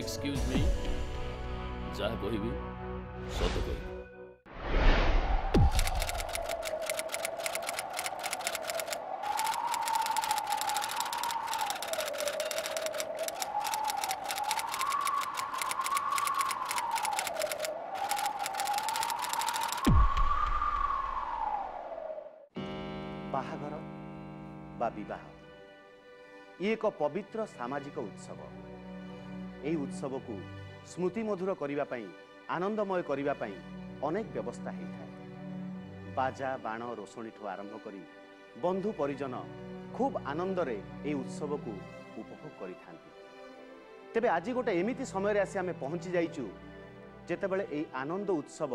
Excuse ମି, ଯାହା କହିବି ସତ କହିବି। ବାହାଘର ବା ବିବାହ ଇଏ ଏକ ପବିତ୍ର ସାମାଜିକ ଉତ୍ସବ। ଏହି ଉତ୍ସବକୁ ସ୍ମୃତିମଧୁର କରିବା ପାଇଁ, ଆନନ୍ଦମୟ କରିବା ପାଇଁ ଅନେକ ବ୍ୟବସ୍ଥା ହେଇଥାଏ। ବାଜା ବାଣ ରୋଷଣୀଠୁ ଆରମ୍ଭ କରି ବନ୍ଧୁ ପରିଜନ ଖୁବ୍ ଆନନ୍ଦରେ ଏହି ଉତ୍ସବକୁ ଉପଭୋଗ କରିଥାନ୍ତି। ତେବେ ଆଜି ଗୋଟେ ଏମିତି ସମୟରେ ଆସି ଆମେ ପହଞ୍ଚି ଯାଇଛୁ ଯେତେବେଳେ ଏହି ଆନନ୍ଦ ଉତ୍ସବ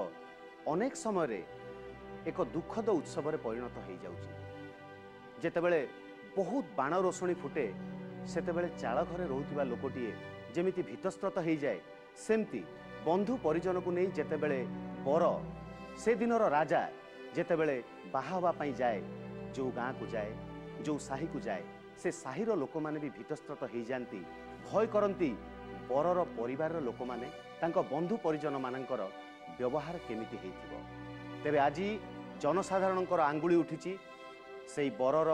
ଅନେକ ସମୟରେ ଏକ ଦୁଃଖଦ ଉତ୍ସବରେ ପରିଣତ ହେଇଯାଉଛି। ଯେତେବେଳେ ବହୁତ ବାଣ ରୋଷଣୀ ଫୁଟେ ସେତେବେଳେ ଚାଳ ଘରେ ରହୁଥିବା ଲୋକଟିଏ ଯେମିତି ଭୀତସ୍ତ୍ରତ ହେଇଯାଏ, ସେମିତି ବନ୍ଧୁ ପରିଜନକୁ ନେଇ ଯେତେବେଳେ ବର ସେଦିନର ରାଜା ଯେତେବେଳେ ବାହା ହେବା ପାଇଁ ଯାଏ, ଯେଉଁ ଗାଁକୁ ଯାଏ, ଯେଉଁ ସାହିକୁ ଯାଏ, ସେ ସାହିର ଲୋକମାନେ ବି ଭୀତସ୍ତ୍ରତ ହେଇଯାଆନ୍ତି, ଭୟ କରନ୍ତି ବରର ପରିବାରର ଲୋକମାନେ ତାଙ୍କ ବନ୍ଧୁ ପରିଜନମାନଙ୍କର ବ୍ୟବହାର କେମିତି ହେଇଥିବ। ତେବେ ଆଜି ଜନସାଧାରଣଙ୍କର ଆଙ୍ଗୁଳି ଉଠିଛି ସେଇ ବରର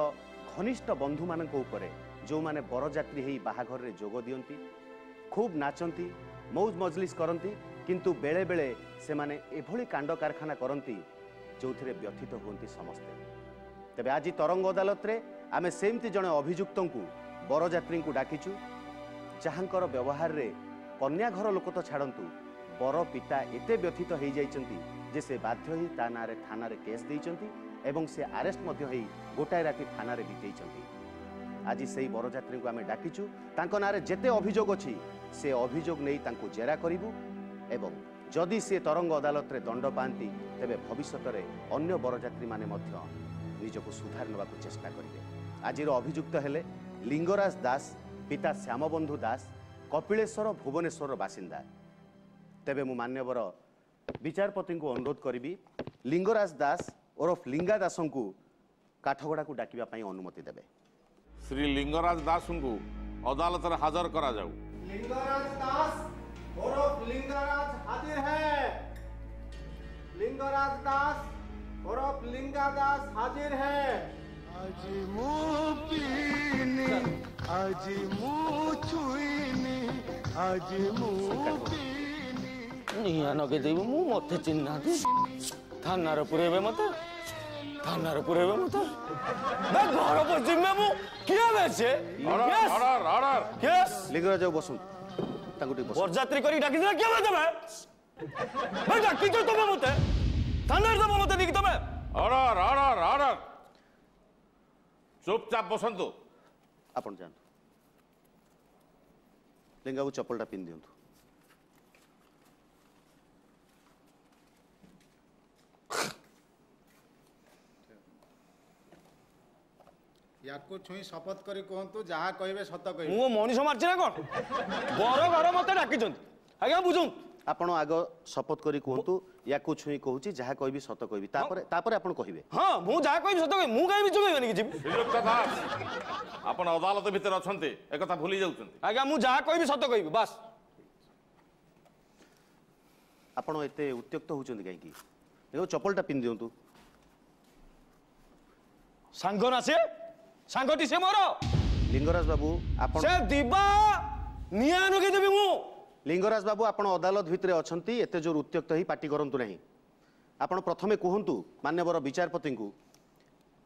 ଘନିଷ୍ଠ ବନ୍ଧୁମାନଙ୍କ ଉପରେ, ଯେଉଁମାନେ ବରଯାତ୍ରୀ ହେଇ ବାହାଘରରେ ଯୋଗ ଦିଅନ୍ତି, ଖୁବ୍ ନାଚନ୍ତି, ମୌଜ ମଜଲିସ କରନ୍ତି, କିନ୍ତୁ ବେଳେବେଳେ ସେମାନେ ଏଭଳି କାଣ୍ଡ କାରଖାନା କରନ୍ତି ଯେଉଁଥିରେ ବ୍ୟଥିତ ହୁଅନ୍ତି ସମସ୍ତେ। ତେବେ ଆଜି ତରଙ୍ଗ ଅଦାଲତରେ ଆମେ ସେମିତି ଜଣେ ଅଭିଯୁକ୍ତଙ୍କୁ, ବରଯାତ୍ରୀଙ୍କୁ ଡାକିଛୁ, ଯାହାଙ୍କର ବ୍ୟବହାରରେ କନ୍ୟା ଘର ଲୋକ ତ ଛାଡ଼ନ୍ତୁ, ବର ପିତା ଏତେ ବ୍ୟଥିତ ହେଇଯାଇଛନ୍ତି ଯେ ସେ ବାଧ୍ୟ ହେଇ ତା ନାଁରେ ଥାନାରେ କେସ୍ ଦେଇଛନ୍ତି ଏବଂ ସେ ଆରେଷ୍ଟ ମଧ୍ୟ ହେଇ ଗୋଟାଏ ରାତି ଥାନାରେ ବିତେଇଛନ୍ତି। ଆଜି ସେଇ ବରଯାତ୍ରୀଙ୍କୁ ଆମେ ଡାକିଛୁ। ତାଙ୍କ ନାଁରେ ଯେତେ ଅଭିଯୋଗ ଅଛି ସେ ଅଭିଯୋଗ ନେଇ ତାଙ୍କୁ ଜେରା କରିବୁ ଏବଂ ଯଦି ସେ ତରଙ୍ଗ ଅଦାଲତରେ ଦଣ୍ଡ ପାଆନ୍ତି ତେବେ ଭବିଷ୍ୟତରେ ଅନ୍ୟ ବରଯାତ୍ରୀମାନେ ମଧ୍ୟ ନିଜକୁ ସୁଧାର ନେବାକୁ ଚେଷ୍ଟା କରିବେ। ଆଜିର ଅଭିଯୁକ୍ତ ହେଲେ ଲିଙ୍ଗରାଜ ଦାସ, ପିତା ଶ୍ୟାମବନ୍ଧୁ ଦାସ, କପିଳେଶ୍ୱର ଭୁବନେଶ୍ୱରର ବାସିନ୍ଦା। ତେବେ ମୁଁ ମାନ୍ୟବର ବିଚାରପତିଙ୍କୁ ଅନୁରୋଧ କରିବି ଲିଙ୍ଗରାଜ ଦାସ ଓରଫ ଲିଙ୍ଗା ଦାସଙ୍କୁ କାଠଗଡ଼ାକୁ ଡାକିବା ପାଇଁ ଅନୁମତି ଦେବେ। ଶ୍ରୀ ଲିଙ୍ଗରାଜ ଦାସଙ୍କୁ ଅଦାଲତରେ ହାଜର କରାଯାଉ। लिंगराज दास उर्फ लिंगराज हाजिर है। लिंगराज दास उर्फ लिंगा दास हाजिर है। आज मुँह पीनी, आज मुँह छुईनी, आज मुँह पीनी। ନିଆଁ ଲଗେଇଦେବି ମୁଁ, ମତେ ଚିହ୍ନି ନାହାନ୍ତି, ଥାନାରେ ପୁରେଇବେ ମତେ, ଥାନାରେ ପୁରେଇବେ ମତେ, ଘର ପଶିବି ମୁଁ। କିଏ ବେ ସେ? Order, order. Case. Lingaraj ବାବୁ ବସନ୍ତୁ, ତାଙ୍କୁ ଟିକେ ବସନ୍ତୁ। ବରଯାତ୍ରୀ କରି ଡାକିଥିଲା କିଏ ବେ ତମେ? ବେ ଡାକିଛ ତମେ ମତେ, ଥାନାରେ ଦବ ମତେ ନେଇକି ତମେ? Order, order, order. ଚୁପଚାପ ବସନ୍ତୁ। ଆପଣ ଯାଆନ୍ତୁ। ଲିଙ୍ଗାବାବୁ ଚପଲଟା ପିନ୍ଧି ଦିଅନ୍ତୁ। ୟାକୁ ଛୁଇଁ ଶପଥ କରି କୁହନ୍ତୁ, ଯାହା କହିବେ ସତ କହିବେ। ମୁଁ ମଣିଷ ମାରିଛି ନା କଣ? ବର ଘର ମତେ ଡାକିଛନ୍ତି ଆଜ୍ଞା, ବୁଝନ୍ତୁ। ଆପଣ ଆଗ ଶପଥ କରି କୁହନ୍ତୁ, ୟାକୁ ଛୁଇଁ କହୁଛି ଯାହା କହିବି ସତ କହିବି, ତାପରେ ତାପରେ ଆପଣ କହିବେ। ହଁ, ମୁଁ ଯାହା କହିବି ସତ କହିବି। ମୁଁ କାହିଁ ମିଛ କହିବିନି କିଛି। ଶ୍ରୀଯୁକ୍ତ ଦାସ, ଆପଣ ଅଦାଲତ ଭିତରେ ଅଛନ୍ତି ଏକଥା ଭୁଲି ଯାଉଛନ୍ତି। ଆଜ୍ଞା, ମୁଁ ଯାହା କହିବି ସତ କହିବି, ବାସ୍। ଆପଣ ଏତେ ଉତ୍ତ୍ୟକ୍ତ ହେଉଛନ୍ତି କାହିଁକି? ଦେଖ, ଚପଲଟା ପିନ୍ଧି ଦିଅନ୍ତୁ। ସାଙ୍ଗ ନା ସେ, ସାଙ୍ଗଟି ସେ ମୋର। ଲିଙ୍ଗରାଜ ବାବୁ ଆପଣ ସେ ଦିବା ନିଆଁ ଲଗେଇଦେବି ମୁଁ। ଲିଙ୍ଗରାଜ ବାବୁ, ଆପଣ ଅଦାଲତ ଭିତରେ ଅଛନ୍ତି, ଏତେ ଜୋର ଉତ୍ତ୍ୟକ୍ତ ହେଇ ପାଟି କରନ୍ତୁ ନାହିଁ। ଆପଣ ପ୍ରଥମେ କୁହନ୍ତୁ ମାନ୍ୟବର ବିଚାରପତିଙ୍କୁ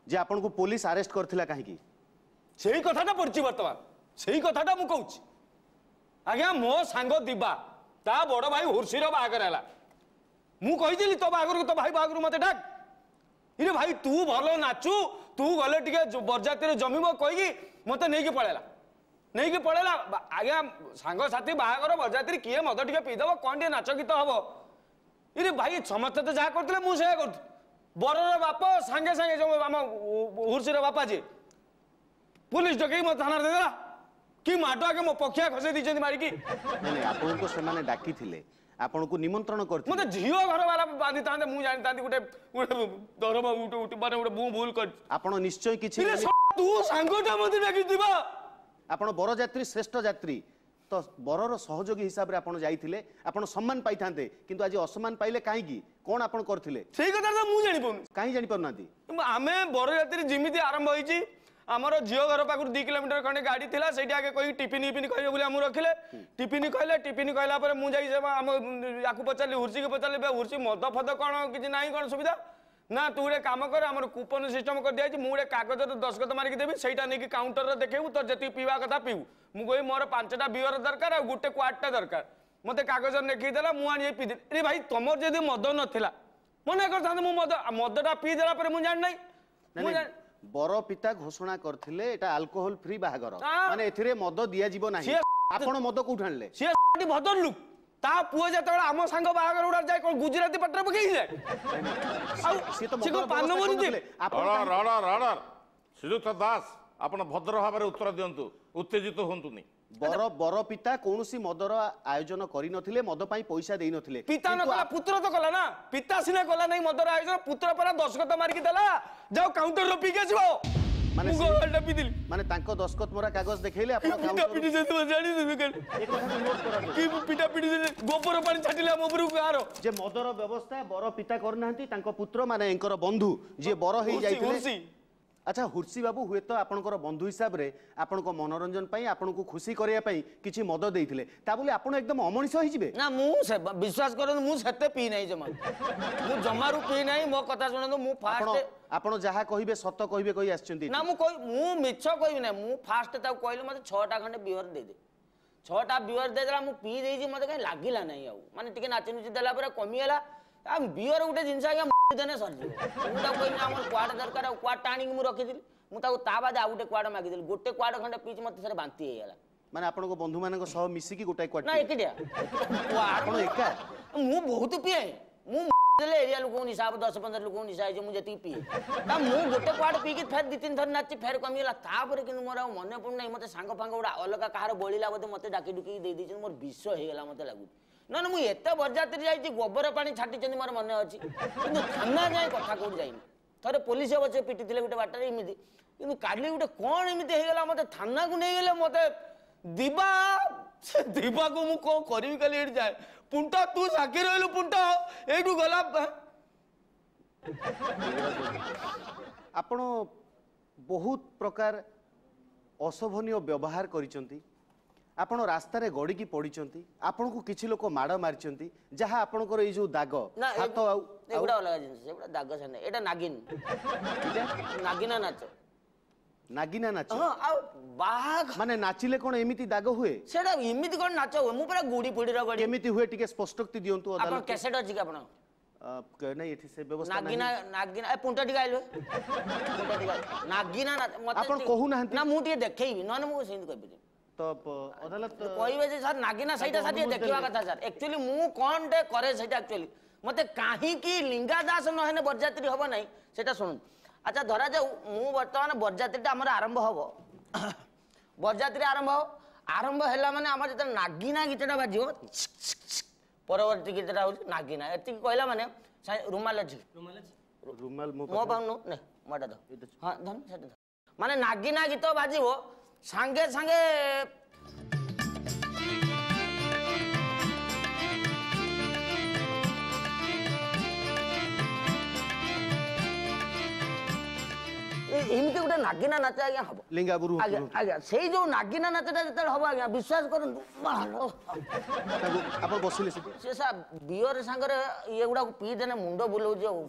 ଯେ ଆପଣଙ୍କୁ ପୋଲିସ ଆରେଷ୍ଟ କରିଥିଲା କାହିଁକି? ସେଇ କଥାଟା ପଡ଼ିଛି ବର୍ତ୍ତମାନ, ସେଇ କଥାଟା ମୁଁ କହୁଛି ଆଜ୍ଞା। ମୋ ସାଙ୍ଗ ଦିବା, ତା ବଡ଼ ଭାଇ ହୁର୍ସିର ବାହାଘର ହେଲା। ମୁଁ କହିଥିଲି ତୋ ବାହାଘରକୁ, ତୋ ଭାଇ ବାହାଘରକୁ ମତେ ଡାକ, ଇରେ ଭାଇ ତୁ ଭଲ ନାଚୁ, ତୁ ଗଲେ ଟିକେ ବରଯାତ୍ରୀରେ ଜମିବ କହିକି ମତେ ନେଇକି ପଳେଇଲା, ନେଇକି ପଳେଇଲା। ଆଜ୍ଞା, ସାଙ୍ଗସାଥି ବାହାଘର ବରଯାତ୍ରୀ, କିଏ ମଦ ଟିକେ ପିଇଦବ, କ'ଣ ଟିକେ ନାଚ ଗୀତ ହବ। ଇରେ ଭାଇ, ସମସ୍ତେ ତ ଯାହା କରୁଥିଲେ ମୁଁ ସେଇଆ କରୁଥିଲି। ବରର ବାପ ସାଙ୍ଗେ ସାଙ୍ଗେ, ଯୋଉ ଆମ ହୁର୍ସିର ବାପା ଯିଏ, ପୁଲିସ ଡକେଇକି ମତେ ଥାନାରେ ଦେଇଦେଲା। କି ମାଡ଼ ଆଗେ, ମୋ ପଖିଆ ଖସେଇ ଦେଇଛନ୍ତି ମାରିକି। ନାଇଁ ନାଇଁ, ଆପଣଙ୍କୁ ସେମାନେ ଡାକିଥିଲେ, ଆପଣଙ୍କୁ ନିମନ୍ତ୍ରଣ କରିଥିଲେ। ମତେ ଝିଅ ଘର ବାଲା ବାନ୍ଧିଥାନ୍ତେ ମୁଁ ଜାଣିଥାନ୍ତି। ଗୋଟେ ଗୋଟେ ଦରମା ଗୋଟେ ମାନେ ଗୋଟେ ମୁଁ ଭୁଲ କରିଛି। ଆପଣ ନିଶ୍ଚୟ କିଛି ଇରେ, ତୁ ସାଙ୍ଗଟା ମତେ ଡାକିଥିବା। ଆପଣ ବରଯାତ୍ରୀ, ଶ୍ରେଷ୍ଠ ଯାତ୍ରୀ, ତ ବରର ସହଯୋଗୀ ହିସାବରେ ଆପଣ ଯାଇଥିଲେ, ଆପଣ ସମ୍ମାନ ପାଇଥାନ୍ତେ, କିନ୍ତୁ ଆଜି ଅସମ୍ମାନ ପାଇଲେ କାହିଁକି? କ'ଣ ଆପଣ କରିଥିଲେ ସେଇ କଥା ତ ମୁଁ ଜାଣିପାରୁନି। କାହିଁ ଜାଣିପାରୁନାହାନ୍ତି? ଆମେ ବରଯାତ୍ରୀ ଯେମିତି ଆରମ୍ଭ ହେଇଛି, ଆମର ଝିଅ ଘର ପାଖରୁ 2 କିଲୋମିଟର ଖଣ୍ଡେ ଗାଡ଼ି ଥିଲା, ସେଇଠି ଆଗେ କହିକି ଟିଫିନ ଫିଫିନ କହିବେ ବୋଲି ଆମକୁ ରଖିଲେ। ଟିଫିନ କହିଲେ, ଟିଫିନ କହିଲା ପରେ ମୁଁ ଯାଇ ଆମ ୟାକୁ ପଚାରିଲି, ହୁର୍ସିକି ପଚାରିଲି, ବେ ହୁର୍ସି ମଦ ଫଦ କ'ଣ କିଛି ନାହିଁ, କ'ଣ ସୁବିଧା ନା? ତୁ ଗୋଟେ କାମ କର, ଆମର କୁପନ ସିଷ୍ଟମ କରିଦିଆଯାଇଛି, ମୁଁ ଗୋଟେ କାଗଜରେ ଦସ୍ତଖତ ମାରିକି ଦେବି, ସେଇଟା ନେଇକି କାଉଣ୍ଟରରେ ଦେଖେଇବୁ, ତୋର ଯେତିକି ପିଇବା କଥା ପିଇବୁ। ମୁଁ କହିବି ମୋର 5ଟା ବିୟର ଦରକାର ଆଉ ଗୋଟେ କ୍ୱାର୍ଟଟା ଦରକାର। ମୋତେ କାଗଜ ଲେଖିକି ଦେଲା, ମୁଁ ଆଣି ପିଇଦେଲି। ରେ ଭାଇ, ତମର ଯଦି ମଦ ନଥିଲା ମନା କରିଥାନ୍ତେ। ମୁଁ ମଦଟା ପିଇଦେଲା ପରେ ମୁଁ ଜାଣିନାହିଁ। ମୁଁ ବର ପିତା ଘୋଷଣା କରିଥିଲେ ଏଟା ଆଲକୋହଲ ଫ୍ରି ବାହାଘର, ମାନେ ଏଥିରେ ମଦ ଦିଆଯିବ ନାହିଁ। ଆପଣ ମଦ କୋଉଠୁ ଆଣିଲେ? ସିଏ ଭଦ୍ରଲୋକ, ତା ପୁଅ ଯେତେବେଳେ ଆମ ସାଙ୍ଗ ବାହାଘର ଗୁଡା ଯାଏ କଣ ଗୁଜୁରାତି ପାଟରେ ପକେଇକି ଯାଏ? ଆଉ ସିଏ ତ ସେ କଣ ପାନ ମରୁଛି? ଶ୍ରୀଯୁକ୍ତ ଦାସ, ଆପଣ ଭଦ୍ର ଭାବରେ ଉତ୍ତର ଦିଅନ୍ତୁ, ଉତ୍ତେଜିତ ହୁଅନ୍ତୁନି। ବର ପିତା କୌଣସି ମଦର ଆୟୋଜନ କରିନଥିଲେ, ମଦ ପାଇଁ ପଇସା ଦେଇନଥିଲେ। ପିତା ନ କଲା, ପୁତ୍ର ତ କଲା ନା। ପିତା ସିନା କଲା ନାହିଁ ମଦର ଆୟୋଜନ, ପୁତ୍ର ପରା ଦସ୍ତଖତ ମାରିକି ଦେଲା, ଯାଅ କାଉଣ୍ଟରରେ ପିଇକି ଆସିବ। ମାନେ ମୁଁ ଗୋଟା ପିଇଦେଲି। ମାନେ ତାଙ୍କ ଦସ୍ତଖତ ମରା କାଗଜ ଦେଖେଇଲେ ଆପଣ? ପିଟା ପିଟି ଜାଣି କି ପିଟା ପିଟି ଗୋବର ପାଣି ଛାଟିଲେ ଆମ ଉପରକୁ ଗାଁର। ଯେ ମଦର ବ୍ୟବସ୍ଥା ବର ପିତା କରିନାହାନ୍ତି, ତାଙ୍କ ପୁତ୍ର ମାନେ ଏଙ୍କର ବନ୍ଧୁ ଯିଏ ବର ହେଇ ଯାଇଥିଲେ। ଆଚ୍ଛା ହୁର୍ସି ବାବୁ, ହୁଏତ ଆପଣଙ୍କର ବନ୍ଧୁ ହିସାବରେ ଆପଣଙ୍କ ମନୋରଞ୍ଜନ ପାଇଁ, ଆପଣଙ୍କୁ ଖୁସି କରିବା ପାଇଁ କିଛି ମଦ ଦେଇଥିଲେ, ତା ବୋଲି ଆପଣ ଏକଦମ ଅମଣିଷ ହେଇଯିବେ? ନା, ମୁଁ ବିଶ୍ୱାସ କରନ୍ତୁ, ମୁଁ ସେତେ ପିଇ ନାହିଁ ଜମା, ମୁଁ ଜମାରୁ ପିଇ ନାହିଁ। ମୋ କଥା ଶୁଣନ୍ତୁ, ମୁଁ ଫାଷ୍ଟ ଆପଣ ଯାହା କହିବେ ସତ କହିବେ କହି ଆସିଛନ୍ତି ନା? ମୁଁ କହି ମୁଁ ମିଛ କହିବି ନାହିଁ। ମୁଁ ଫାଷ୍ଟ ତାକୁ କହିଲି ମତେ 6ଟା ଖଣ୍ଡେ ବିୟର ଦେଇଦେ। 6ଟା ବିୟର ଦେଇଦେଲା, ମୁଁ ପିଇ ଦେଇଛି, ମତେ କାହିଁ ଲାଗିଲା ନାହିଁ ଆଉ। ମାନେ ଟିକେ ନାଚି ନୁଚି ଦେଲା ପରେ କମିଗଲା। ଆଉ ବିୟର ଗୋଟେ ଜିନିଷ ଆଜ୍ଞା, ଦେନେ ସରିଯିବ। ମୁଁ ତାକୁ କହିଲି ଆମର କୁଆଡ଼େ ଦରକାର, ଆଉ କୁଆଡ଼ଟା ଆଣିକି ମୁଁ ରଖିଥିଲି। ମୁଁ ତାକୁ ତା ବାଦେ ଆଉ ଗୋଟେ କୁଆଡ଼ ମାଗିଦେଲି, ଗୋଟେ କୁଆଡ଼ ଖଣ୍ଡେ ପିଇଛି, ମତେ ଥରେ ବାନ୍ତି ହେଇଗଲା। ମାନେ ଆପଣଙ୍କ ବନ୍ଧୁମାନଙ୍କ ସହ ମିଶିକି ଗୋଟାଏ କୁଆଡ଼? ନା, ଏକିଟିଆ। ଆପଣ ଏକା? ମୁଁ ବହୁତ ପିଏ। ମୁଁ ଦେଲେ ଏରିଆ ଲୋକଙ୍କୁ ନିଶା ହବ, 10 15 ଲୋକଙ୍କୁ ନିଶା ହେଇଯିବ ମୁଁ ଯେତିକି ପିଏ। ତା ମୁଁ ଗୋଟେ କୁଆଡ଼େ ପିଇକି ଫେର 2 3 ଥର ନାଚି, ଫେର କମିଗଲା। ତାପରେ କିନ୍ତୁ ମୋର ଆଉ ମନେ ପଡୁନାହିଁ, ମତେ ସାଙ୍ଗ ଫାଙ୍ଗ ଗୁଡ଼ା ଅଲଗା କାହାର ବଳିଲା ବୋଧେ, ମତେ ଡାକି ଡୁକିକି ଦେଇ ଦେଇଛନ୍ତି, ମୋର ବିଷ ହେଇଗଲା ମତେ ଲାଗୁଛି। ନହେଲେ ମୁଁ ଏତେ ବରଯାତ୍ରୀ ଯାଇଛି, ଗୋବର ପାଣି ଛାଟିଛନ୍ତି ମୋର ମନେ ଅଛି, କିନ୍ତୁ ଥାନା ଯାଏଁ କଥା କୋଉଠି ଯାଇନି। ଥରେ ପୋଲିସ ଅବଶ୍ୟ ପିଟିଥିଲେ ଗୋଟେ ବାଟରେ ଏମିତି, କିନ୍ତୁ କାଲି ଗୋଟେ କ'ଣ ଏମିତି ହେଇଗଲା, ମତେ ଥାନାକୁ ନେଇଗଲେ। ମତେ ଦିବା, ସେ ଦିବାକୁ ମୁଁ କ'ଣ କରିବି କାଲି ଏଇଠି ଯାଏ। ପୁଣ୍ଟ ତୁ ସାକ୍ଷୀ ରହିଲୁ, ପୁଣ୍ଟ ଏଇଠୁ ଗଲା। ଆପଣ ବହୁତ ପ୍ରକାର ଅଶୋଭନୀୟ ବ୍ୟବହାର କରିଛନ୍ତି, ଆପଣ ରାସ୍ତାରେ ଗଡ଼ିକି ପଡ଼ିଛନ୍ତି, ଆପଣଙ୍କୁ କିଛି ଲୋକ ମାଡ଼ ମାରିଛନ୍ତି, ଯାହା ଆପଣଙ୍କର ଏଇ ଯୋଉ ଦାଗ ହାତ। ଆଉ ଏଗୁଡ଼ା ଅଲଗା ଜିନିଷ, ସେଗୁଡ଼ା ଦାଗ ସେ ନାହିଁ, ଏଇଟା ନାଗିନ, ନାଗିନା ନାଚ। ନାଗିନା ନାଚ? ହଁ। ଆଉ ବାହାଘର ମାନେ ନାଚିଲେ କ'ଣ ଏମିତି ଦାଗ ହୁଏ? ସେଟା ଏମିତି କ'ଣ ନାଚ ହୁଏ? ମୁଁ ପୁରା ଗୁଡ଼ି ଫୁଡ଼ିର ଗଡ଼ି। କେମିତି ହୁଏ ଟିକେ ସ୍ପଷ୍ଟୋକ୍ତି ଦିଅନ୍ତୁ। ଆପଣ କ୍ୟାସେଟ୍ ଅଛି କି ଆପଣ? ନାଇଁ, ଏଠି ସେ ବ୍ୟବସ୍ଥା। ନାଗିନା, ନାଗିନା, ଏ ପୁଣ୍ଟ ଟିକେ ଆଇଲୁ, ପୁଣ୍ଟ ଟିକେ। ନାଗିନା ମତେ ଆପଣ କହୁନାହାନ୍ତି ନା, ମୁଁ ଟିକେ ଦେଖେଇବି, ନହେଲେ ମୁଁ ସେମିତି କହିପାରିବି। ତ ଅଦାଲତ କହିବେ ଯେ ସାର୍ ନାଗିନା ସେଇଟା ସାର୍ ଟିକେ ଦେଖିବା କଥା ସାର୍। ଆକ୍ଚୁଆଲି ମୁଁ କ'ଣଟେ କରେ ସେଇଟା, ଆକ୍ଚୁଆଲି ମତେ କାହିଁକି ଲିଙ୍ଗା ଦାସ ନହେଲେ ବରଯାତ୍ରୀ ହବ ନାହିଁ, ସେଇଟା ଶୁଣନ୍ତୁ। ଆଚ୍ଛା ଧରାଯାଉ ମୁଁ ବର୍ତ୍ତମାନ ବରଯାତ୍ରୀଟା ଆମର ଆରମ୍ଭ ହବ, ବରଯାତ୍ରୀ ଆରମ୍ଭ ହବ। ଆରମ୍ଭ ହେଲା ମାନେ ଆମର ଯେତେବେଳେ ନାଗିନା ଗୀତଟା ବାଜିବ, ପରବର୍ତ୍ତୀ ଗୀତଟା ହଉଛି ନାଗିନା। ଏତିକି କହିଲା ମାନେ ରୁମାଲ ଅଛି? ରୁମାଲ ମୋ ପାଖକୁ ନେ, ମୋ ଏଟା ହଁ ଧନ, ସେଟା ମାନେ ନାଗିନା ଗୀତ ବାଜିବ ସାଙ୍ଗେ ସାଙ୍ଗେ ଏମିତି ଗୋଟେ ନାଗିନା ନାଚ ଆଜ୍ଞା ହବ। ଲିଙ୍ଗାବୁରୁ ଆଜ୍ଞା, ଆଜ୍ଞା, ସେଇ ଯୋଉ ନାଗିନା ନାଚଟା ଯେତେବେଳେ ହବ ଆଜ୍ଞା, ବିଶ୍ୱାସ କରନ୍ତୁ, ଆପଣ ବସିଲେ ସେଠି। ସେ ସାର୍ ବିୟର ସାଙ୍ଗରେ ଇଏ ଗୁଡାକୁ ପିଇଦେଲେ ମୁଣ୍ଡ ବୁଲଉଛି। ଆଉ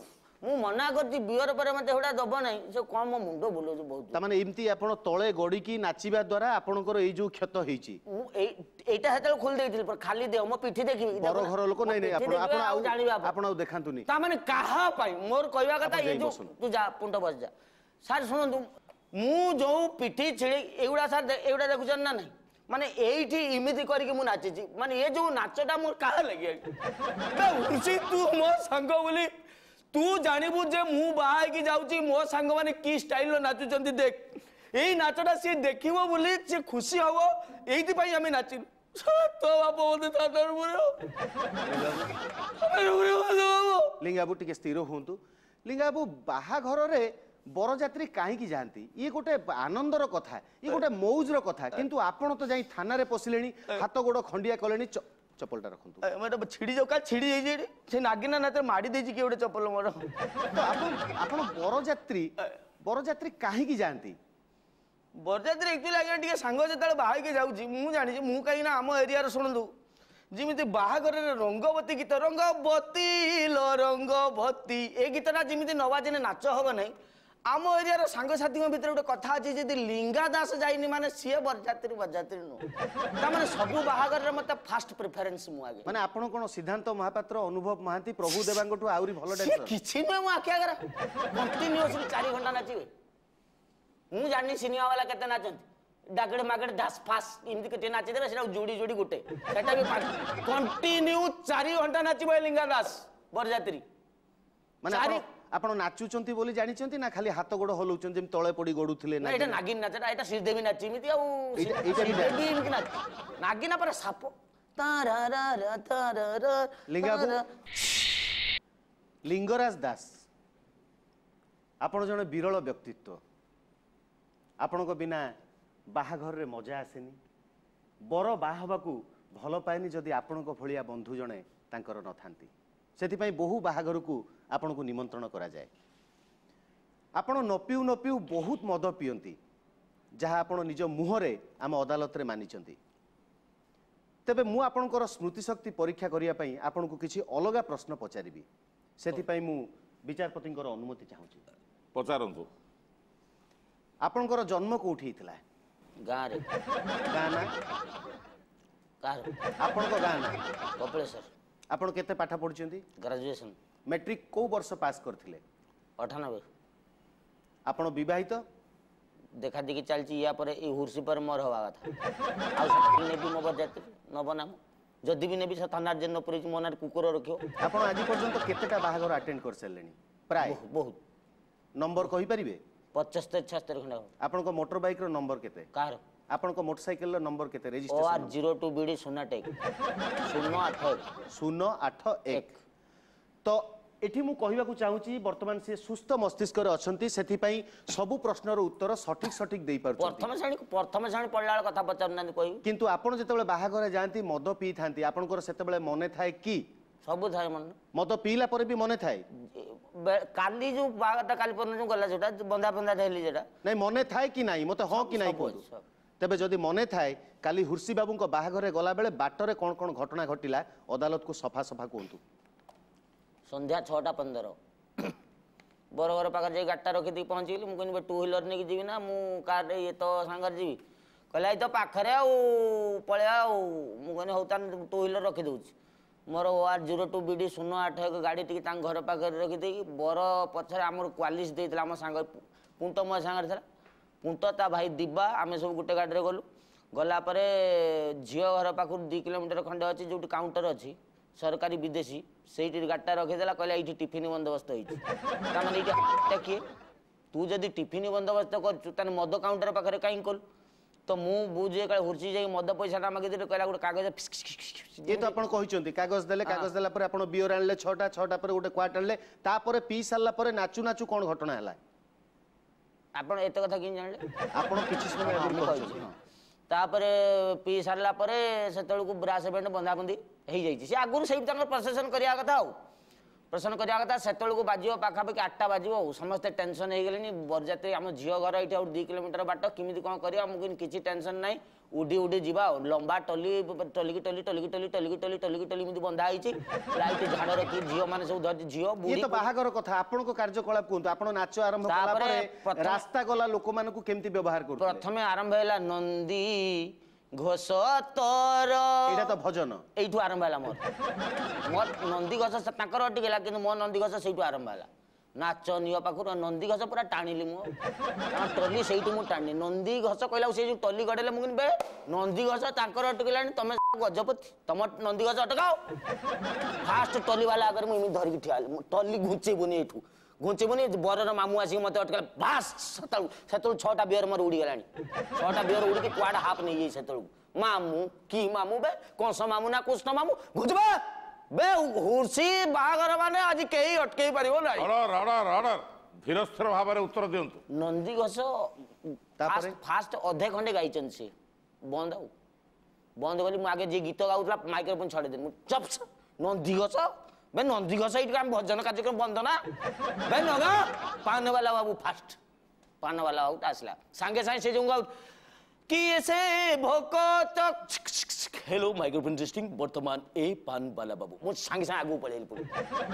ମୁଁ ମନା କରିଛି ବିୟର ପରେ ମତେ ଏଗୁଡ଼ା ଦବ ନାହିଁ, ସେ କଣ ମୋ ମୁଣ୍ଡ ବୁଲଉଛି ବହୁତ। ତାମାନେ ଏମିତି ଆପଣ ତଳେ ଗଡ଼ିକି ନାଚିବା ଦ୍ୱାରା ଆପଣଙ୍କର ଏଇ ଯୋଉ କ୍ଷତ ହେଇଛି? ମୁଁ ଏଇଟା ସେତେବେଳେ ଖୋଲି ଦେଇଥିଲି, ଖାଲି ଦେହ ମୋ ପିଠି ଦେଖିବି ବର ଘର ଲୋକ। ନାଇଁ ନାଇଁ, ଆପଣ ଆପଣ ଆଉ ଜାଣିବେ, ଆପଣ ଆଉ ଦେଖାନ୍ତୁନି। ତାମାନେ କାହା ପାଇଁ ମୋର କହିବା କଥା, ଏଇ ଯୋଉ ତୁ ଯା ପୁଣ୍ଟ ବସି ଯା। ସାର୍ ଶୁଣନ୍ତୁ, ମୁଁ ଯୋଉ ପିଠି ଛିଡ଼ି ଏଗୁଡ଼ା ସାର୍ ଏଗୁଡ଼ା ଦେଖୁଛନ୍ତି ନା ନାହିଁ? ମାନେ ଏଇଠି ଏମିତି କରିକି ମୁଁ ନାଚିଛି। ମାନେ ଏ ଯୋଉ ନାଚଟା ମୋର କାହା ଲାଗି? ତୁ ମୋ ସାଙ୍ଗ ବୋଲି ତୁ ଜାଣିବୁ ଯେ ମୁଁ ବାହା ହେଇକି ଯାଉଛି, ମୋ ସାଙ୍ଗମାନେ କି ଷ୍ଟାଇଲର ନାଚୁଛନ୍ତି ଦେଖ। ଏଇ ନାଚଟା ସିଏ ଦେଖିବ ବୋଲି ସିଏ ଖୁସି ହବ, ଏଇଥିପାଇଁ ଆମେ ନାଚିଲୁ। ତୋ ବାପ ମତେ। ଲିଙ୍ଗାବୁ, ଟିକେ ସ୍ଥିର ହୁଅନ୍ତୁ ଲିଙ୍ଗାବୁ। ବାହାଘରରେ ବରଯାତ୍ରୀ କାହିଁକି ଯାଆନ୍ତି? ଇଏ ଗୋଟେ ଆନନ୍ଦର କଥା, ଇଏ ଗୋଟେ ମଉଜର କଥା, କିନ୍ତୁ ଆପଣ ତ ଯାଇ ଥାନାରେ ପଶିଲେଣି, ହାତ ଗୋଡ଼ ଖଣ୍ଡିଆ କଲେଣି। ଚପଲଟା ରଖନ୍ତୁ। ଛିଡ଼ି ଯାଉ, କାଲି ଛିଡ଼ି ଯାଇଛି ଏଠି। ସେ ନାଗିନା ନାଚରେ ମାଡ଼ି ଦେଇଛି କିଏ ଗୋଟେ ଚପଲ ମୋର। ତ ଆପଣ ବରଯାତ୍ରୀ କାହିଁକି ଯାଆନ୍ତି? ବରଯାତ୍ରୀ ଆକ୍ଚୁଆଲି ଆଜ୍ଞା ଟିକେ ସାଙ୍ଗ ଯେତେବେଳେ ବାହା ହେଇକି ଯାଉଛି, ମୁଁ ଜାଣିଛି ମୁଁ କାହିଁକି ନା ଆମ ଏରିଆର, ଶୁଣନ୍ତୁ, ଯେମିତି ବାହାଘରରେ ରଙ୍ଗବତୀ ଗୀତ, ରଙ୍ଗବତୀ ଲ ରଙ୍ଗବତୀ, ଏ ଗୀତଟା ଯେମିତି ନ ବାଜିଲେ ନାଚ ହବ ନାହିଁ। ଆମ ଏରିଆର ସାଙ୍ଗସାଥୀଙ୍କ ଭିତରେ ଗୋଟେ କଥା ଅଛି, ଯଦି ଲିଙ୍ଗା ଦାସ ଯାଇନି ମାନେ ସିଏ ବରଯାତ୍ରୀ ବରଯାତ୍ରୀ ନୁହଁ। ତାମାନେ ସବୁ ବାହାଘରରେ ମତେ ଫାଷ୍ଟ ପ୍ରିଫରେନ୍ସ, ମୁଁ ଆଗେ। ମାନେ ଆପଣ କ'ଣ ସିଦ୍ଧାନ୍ତ ମହାପାତ୍ର, ଅନୁଭବ ମହାନ୍ତି, ପ୍ରଭୁ ଦେବାଙ୍କଠୁ ଆହୁରି ଭଲ ଡ୍ୟାନ୍ସର? କିଛି ନୁହେଁ, ମୁଁ ଆଖି ଆଗରେ କଣ୍ଟିନ୍ୟୁଅସଲି 4 ଘଣ୍ଟା ନାଚିବେ। ମୁଁ ଜାଣିନି ସିନେମା ବାଲା କେତେ ନାଚନ୍ତି, ଡାଗଡେ ମାଗଡେ ଢାସ ଫାସ ଏମିତି କେତେ ନାଚିଦେବେ, ସେଟା ଯୋଡ଼ି ଯୋଡ଼ି ଗୋଟେ, ସେଟା ବି କଣ୍ଟିନ୍ୟୁ 4 ଘଣ୍ଟା ନାଚିବ ଏ ଲିଙ୍ଗା ଦାସ ବରଯାତ୍ରୀ। ମାନେ ଆପଣ ନାଚୁଛନ୍ତି ବୋଲି ଜାଣିଛନ୍ତି ନା ଖାଲି ହାତ ଗୋଡ଼ ହଲଉଛନ୍ତି, ଯେମିତି ତଳେ ପଡି ଗଡୁଥିଲେ? ନା, ଏଇଟା ନାଗିନ ନାଚଟା, ଏଇଟା ଶ୍ରୀଦେବୀ ନାଚି ଏମିତି। ଆଉ ଶ୍ରୀଦେବୀ ଏମିତି ନାଚ ନାଗିନା ପରେ ସାପ। ଲିଙ୍ଗରାଜ ଦାସ, ଆପଣ ଜଣେ ବିରଳ ବ୍ୟକ୍ତିତ୍ୱ। ଆପଣଙ୍କ ବିନା ବାହାଘରରେ ମଜା ଆସେନି। ବର ବାହା ହେବାକୁ ଭଲ ପାଏନି ଯଦି ଆପଣଙ୍କ ଭଳିଆ ବନ୍ଧୁ ଜଣେ ତାଙ୍କର ନଥାନ୍ତି। ସେଥିପାଇଁ ବହୁ ବାହାଘରକୁ ଆପଣଙ୍କୁ ନିମନ୍ତ୍ରଣ କରାଯାଏ। ଆପଣ ନ ପିଉ ନ ପିଉ ବହୁତ ମଦ ପିଅନ୍ତି, ଯାହା ଆପଣ ନିଜ ମୁହଁରେ ଆମ ଅଦାଲତରେ ମାନିଛନ୍ତି। ତେବେ ମୁଁ ଆପଣଙ୍କର ସ୍ମୃତିଶକ୍ତି ପରୀକ୍ଷା କରିବା ପାଇଁ ଆପଣଙ୍କୁ କିଛି ଅଲଗା ପ୍ରଶ୍ନ ପଚାରିବି। ସେଥିପାଇଁ ମୁଁ ବିଚାରପତିଙ୍କର ଅନୁମତି ଚାହୁଁଛି। ପଚାରନ୍ତୁ। ଆପଣଙ୍କର ଜନ୍ମ କୋଉଠି ହେଇଥିଲା? ଗାଁରେ। ଗାଁ ନା? ଆପଣଙ୍କ ଗାଁ ନା? କପିଳେଶ୍ୱର। ଆପଣ କେତେ ପାଠ ପଢିଛନ୍ତି? ଗ୍ରାଜୁଏସନ। ମେଟ୍ରିକ କୋଉ ବର୍ଷ ପାସ୍ କରିଥିଲେ? 98। ଆପଣ ବିବାହିତ? ଦେଖା ଦେଖି ଚାଲିଛି। ୟା ପରେ ଏଇ ହୁର୍ସି ପରେ ମୋର ହବା କଥା। ଆଉ ନେବି ମୋ ବରଯାତ୍ରୀ ନବ ନା? ମୁଁ ଯଦି ବି ନେବି, ସେ ଥାନାରେ ଯେ ନ ପୁରେଇଛି ମୋ ନାଁରେ କୁକୁର ରଖିବ। ଆପଣ ଆଜି ପର୍ଯ୍ୟନ୍ତ କେତେଟା ବାହାଘର ଆଟେଣ୍ଡ କରିସାରିଲେଣି? ପ୍ରାୟ ବହୁତ। ନମ୍ବର କହିପାରିବେ? 75 76 ଖଣ୍ଡେ। ଆପଣଙ୍କ ମୋଟର ବାଇକ୍ର ନମ୍ବର କେତେ? କାହାର? ଆପଣଙ୍କ ମୋଟରସାଇକେଲର ନମ୍ବର କେତେ? Registration OR 02 BD 08 081। 081। ତ ଏଠି ମୁଁ କହିବାକୁ ଚାହୁଁଛି, ବର୍ତ୍ତମାନ ସେ ସୁସ୍ଥ ମସ୍ତିଷ୍କରେ ଅଛନ୍ତି, ସେଥିପାଇଁ ସବୁ ପ୍ରଶ୍ନର ଉତ୍ତର ସଠିକ ସଠିକ ଦେଇପାରୁଛନ୍ତି। ପ୍ରଥମ ଶ୍ରେଣୀ ପଢିଲା ବେଳେ କଥା ପଚାରୁନାହାନ୍ତି, କହିବି। କିନ୍ତୁ ଆପଣ ଯେତେବେଳେ ବାହାଘର ଯାଆନ୍ତି, ମଦ ପିଇଥାନ୍ତି, ଆପଣଙ୍କର ସେତେବେଳେ ମନେ ଥାଏ କି? ସବୁ ଥାଏ ମନେ। ମଦ ପିଇଲା ପରେ ବି ମନେ ଥାଏ? କାଲି ଯୋଉ ବାହାଘରଟା, କାଲି ପରଦିନ ଯୋଉ ଗଲା, ଯୋଉଟା ବନ୍ଧା ବନ୍ଧା ହେଲି, ଯେଟା ନାଇଁ, ମନେ ଥାଏ କି ନାହିଁ? ମତେ ହଁ କି ନାହିଁ କୁହନ୍ତୁ। ତେବେ ଯଦି ମନେ ଥାଏ, କାଲି ହୁର୍ସି ବାବୁଙ୍କ ବାହାଘରରେ ଗଲାବେଳେ ବାଟରେ କ'ଣ କ'ଣ ଘଟଣା ଘଟିଲା ଅଦାଲତକୁ ସଫା ସଫା କୁହନ୍ତୁ। ସନ୍ଧ୍ୟା 6ଟା 15 ବରଘର ପାଖରେ ଯାଇ ଗାଡ଼ିଟା ରଖିଦେଇକି ପହଞ୍ଚିଗଲି। ମୁଁ କହିଲି, ଟୁ ହ୍ୱିଲର ନେଇକି ଯିବି ନା ମୁଁ କାରରେ ଇଏ ତ ସାଙ୍ଗରେ ଯିବି? କହିଲା, ଏଇ ତ ପାଖରେ ଆଉ ପଳେଇବା। ଆଉ ମୁଁ କହିଲି, ହଉ ତାହେଲେ ଟୁ ହ୍ୱିଲର ରଖିଦେଉଛି। ମୋର OR 02 BD 081 ଗାଡ଼ି ଟିକେ ତାଙ୍କ ଘର ପାଖରେ ରଖିଦେଇକି ବର ପଛରେ ଆମର କ୍ୱାଲିସ୍ ଦେଇଥିଲା ଆମ ସାଙ୍ଗ ପୁଣ୍ଟ, ମୋ ସାଙ୍ଗରେ ଥିଲା ପୁଣ୍ଟ, ତା ଭାଇ ଦିବା, ଆମେ ସବୁ ଗୋଟେ ଗାଡ଼ିରେ ଗଲୁ। ଗଲା ପରେ ଝିଅ ଘର ପାଖରୁ 2 କିଲୋମିଟର ଖଣ୍ଡେ ଅଛି, ଯେଉଁଠି କାଉଣ୍ଟର ଅଛି ସରକାରୀ ବିଦେଶୀ, ସେଇଠି ଗାଡ଼ିଟା ରଖିଦେଲା। କହିଲା, ଏଇଠି ଟିଫିନ୍ ବନ୍ଦୋବସ୍ତ ହେଇଛି। ତାମାନେ ଏଇଠି କିଏ? ତୁ ଯଦି ଟିଫିନ୍ ବନ୍ଦୋବସ୍ତ କରୁଛୁ, ତାହେଲେ ମଦ କାଉଣ୍ଟର ପାଖରେ କାହିଁକି କଲୁ? ତ ମୁଁ ବୁଝେ କାଳେ ହୁର୍ସି ଯାଇ ମଦ ପଇସାଟା ମାଗିଦେଲି। କହିଲା, ଗୋଟେ କାଗଜ। ଇଏ ତ ଆପଣ କହିଛନ୍ତି, କାଗଜ ଦେଲେ। କାଗଜ ଦେଲା ପରେ ଆପଣ ବିୟର ଆଣିଲେ 6ଟା, 6ଟା ପରେ ଗୋଟେ କ୍ୱାର୍ଟ ଆଣିଲେ। ତାପରେ ପିଇ ସାରିଲା ପରେ ନାଚୁ ନାଚୁ କ'ଣ ଘଟଣା ହେଲା? ଆପଣ ଏତେ କଥା କେମିତି ଜାଣିଲେ? ଆପଣ କିଛି ସମୟ ଆଗରୁ କହିଛନ୍ତି। ତାପରେ ପିଇ ସାରିଲା ପରେ ସେତେବେଳକୁ ବ୍ରାସ ବ୍ୟାଣ୍ଡ ବନ୍ଧାବନ୍ଧି ହେଇଯାଇଛି। ସେ ଆଗରୁ ସେଇଠି ତାଙ୍କର ପ୍ରସେସନ କରିବା କଥା, ଆଉ ପ୍ରସେସନ କରିବା କଥା। ସେତେବେଳକୁ ବାଜିବ ପାଖାପାଖି 8ଟା ବାଜିବ। ଆଉ ସମସ୍ତେ ଟେନସନ୍ ହେଇଗଲେଣି। ବରଯାତ୍ରୀ ଆମ ଝିଅ ଘର ଏଇଠି ଆଉ 2 କିଲୋମିଟର ବାଟ, କେମିତି କ'ଣ କରିବା? ମୁଁ କହିଲି, କିଛି ଟେନସନ୍ ନାହିଁ, ଉଡି ଉଡି ଯିବା। ଆଉ ଲମ୍ବା ଟଲି, ଟଲିକି ଟଲି, ଟଲିକି ଟଲି, ଟଲିକି ଟଲି, ଟଲିକି ଟଲି ଏମିତି ବନ୍ଧା ହେଇଛି। ଲାଇଟ୍ ଝାଡ଼ ରଖି ଝିଅମାନେ ସବୁ ଧରିଛି, ଝିଅ ଇଏ ତ ବାହାଘର କଥା, ଆପଣଙ୍କ କାର୍ଯ୍ୟକଳାପ କୁହନ୍ତୁ। ଆପଣ ନାଚ ଆରମ୍ଭ କଲା ପରେ ରାସ୍ତା ଗଲା ଲୋକମାନଙ୍କୁ କେମିତି ବ୍ୟବହାର କରୁଥିଲେ? ପ୍ରଥମେ ଆରମ୍ଭ ହେଲା ନନ୍ଦୀ ଘୋଷ ତୋର। ଏଇଟା ତ ଭଜନ। ଏଇଠୁ ଆରମ୍ଭ ହେଲା ମୋର ନନ୍ଦୀଘୋଷ। ତାଙ୍କର ଅଟିକିଲା, କିନ୍ତୁ ମୋ ନନ୍ଦୀଘୋଷ ସେଇଠୁ ଆରମ୍ଭ ହେଲା। ନାଚ ନିଅ ପାଖରୁ ନନ୍ଦୀଘୋଷ ପୁରା ଟାଣିଲି ମୁଁ, ଟଲି ସେଇଠୁ ମୁଁ ଟାଣିଲି। ନନ୍ଦୀଘୋଷ କହିଲା, ସେଇ ଯୋଉ ଟଲି ଗଡ଼େଇଲେ, ମୁଁ କହିଲି, ବେ ନନ୍ଦୀଘୋଷ ତାଙ୍କର ଅଟକିଲାଣି, ତମେ ଗଜପତି ତମ ନନ୍ଦୀଘୋଷ ଅଟକାଅ। ଫାଷ୍ଟ ଟଲି ବାଲା ଆଗରେ ମୁଁ ଏମିତି ଧରିକି ଠିଆ ହେଲି, ଟଲି ଘୁଞ୍ଚେଇବୁନି, ଏଇଠୁ ଘୁଞ୍ଚିବୁନି। ବରର ମାମୁଁ ଆସିକି ମତେ ଅଟକାଲେ। ବାସ୍, ସେତେବେଳକୁ 6ଟା ବିୟର ମୋର ଉଡ଼ିଗଲାଣି। 6ଟା ବିୟର ଉଡ଼ିକି କୁଆଡ଼େ ହାଫ୍ ନେଇଯାଇଛି ସେତେବେଳକୁ। ମାମୁଁ କି ମାମୁଁ ବେ, କଂସ ମାମୁଁ ନା କୃଷ୍ଣ ମାମୁଁ? ଘୁଞ୍ଚିବେ ବେ। ହୁର୍ସି ବାହାଘର ମାନେ ଆଜି କେହି ଅଟକେଇ ପାରିବ ନାହିଁ। Order, order, order. ଧୀରସ୍ଥିର ଭାବରେ ଉତ୍ତର ଦିଅନ୍ତୁ। ନନ୍ଦିଘୋଷ ଫାଷ୍ଟ ଅଧେ ଖଣ୍ଡେ ଗାଇଛନ୍ତି, ସେ ବନ୍ଦ ଆଉ ବନ୍ଦ କଲି ମୁଁ। ଆଗେ ଯିଏ ଗୀତ ଗାଉଥିଲା ମାଇକ୍ରୋଫୋନ୍ ଛଡ଼େଇ ଦେଲି ମୁଁ, ଚପ୍। ନନ୍ଦିଘୋଷ ବେ, ନନ୍ଦିଘୋଷ ଏଇଠି ଆମେ ଭଜନ କାର୍ଯ୍ୟକ୍ରମ ବନ୍ଦନା ବେ ନଗା। ପାନବାଲା ବାବୁ ଫାଷ୍ଟ, ପାନବାଲା ବାବୁ ଆସିଲା ସାଙ୍ଗେ ସାଙ୍ଗେ। ସେ ଯୋଉ ଗାଉ କିଏ ସେ ଭୋକ, ହେଲୋ ମାଇକ୍ରୋଫୋନ୍ ଟେଷ୍ଟିଂ, ବର୍ତ୍ତମାନ ଏ ପାନବାଲା ବାବୁ। ମୁଁ ସାଙ୍ଗେ ସାଙ୍ଗେ ଆଗକୁ ପଳେଇଲି, ପୁଣି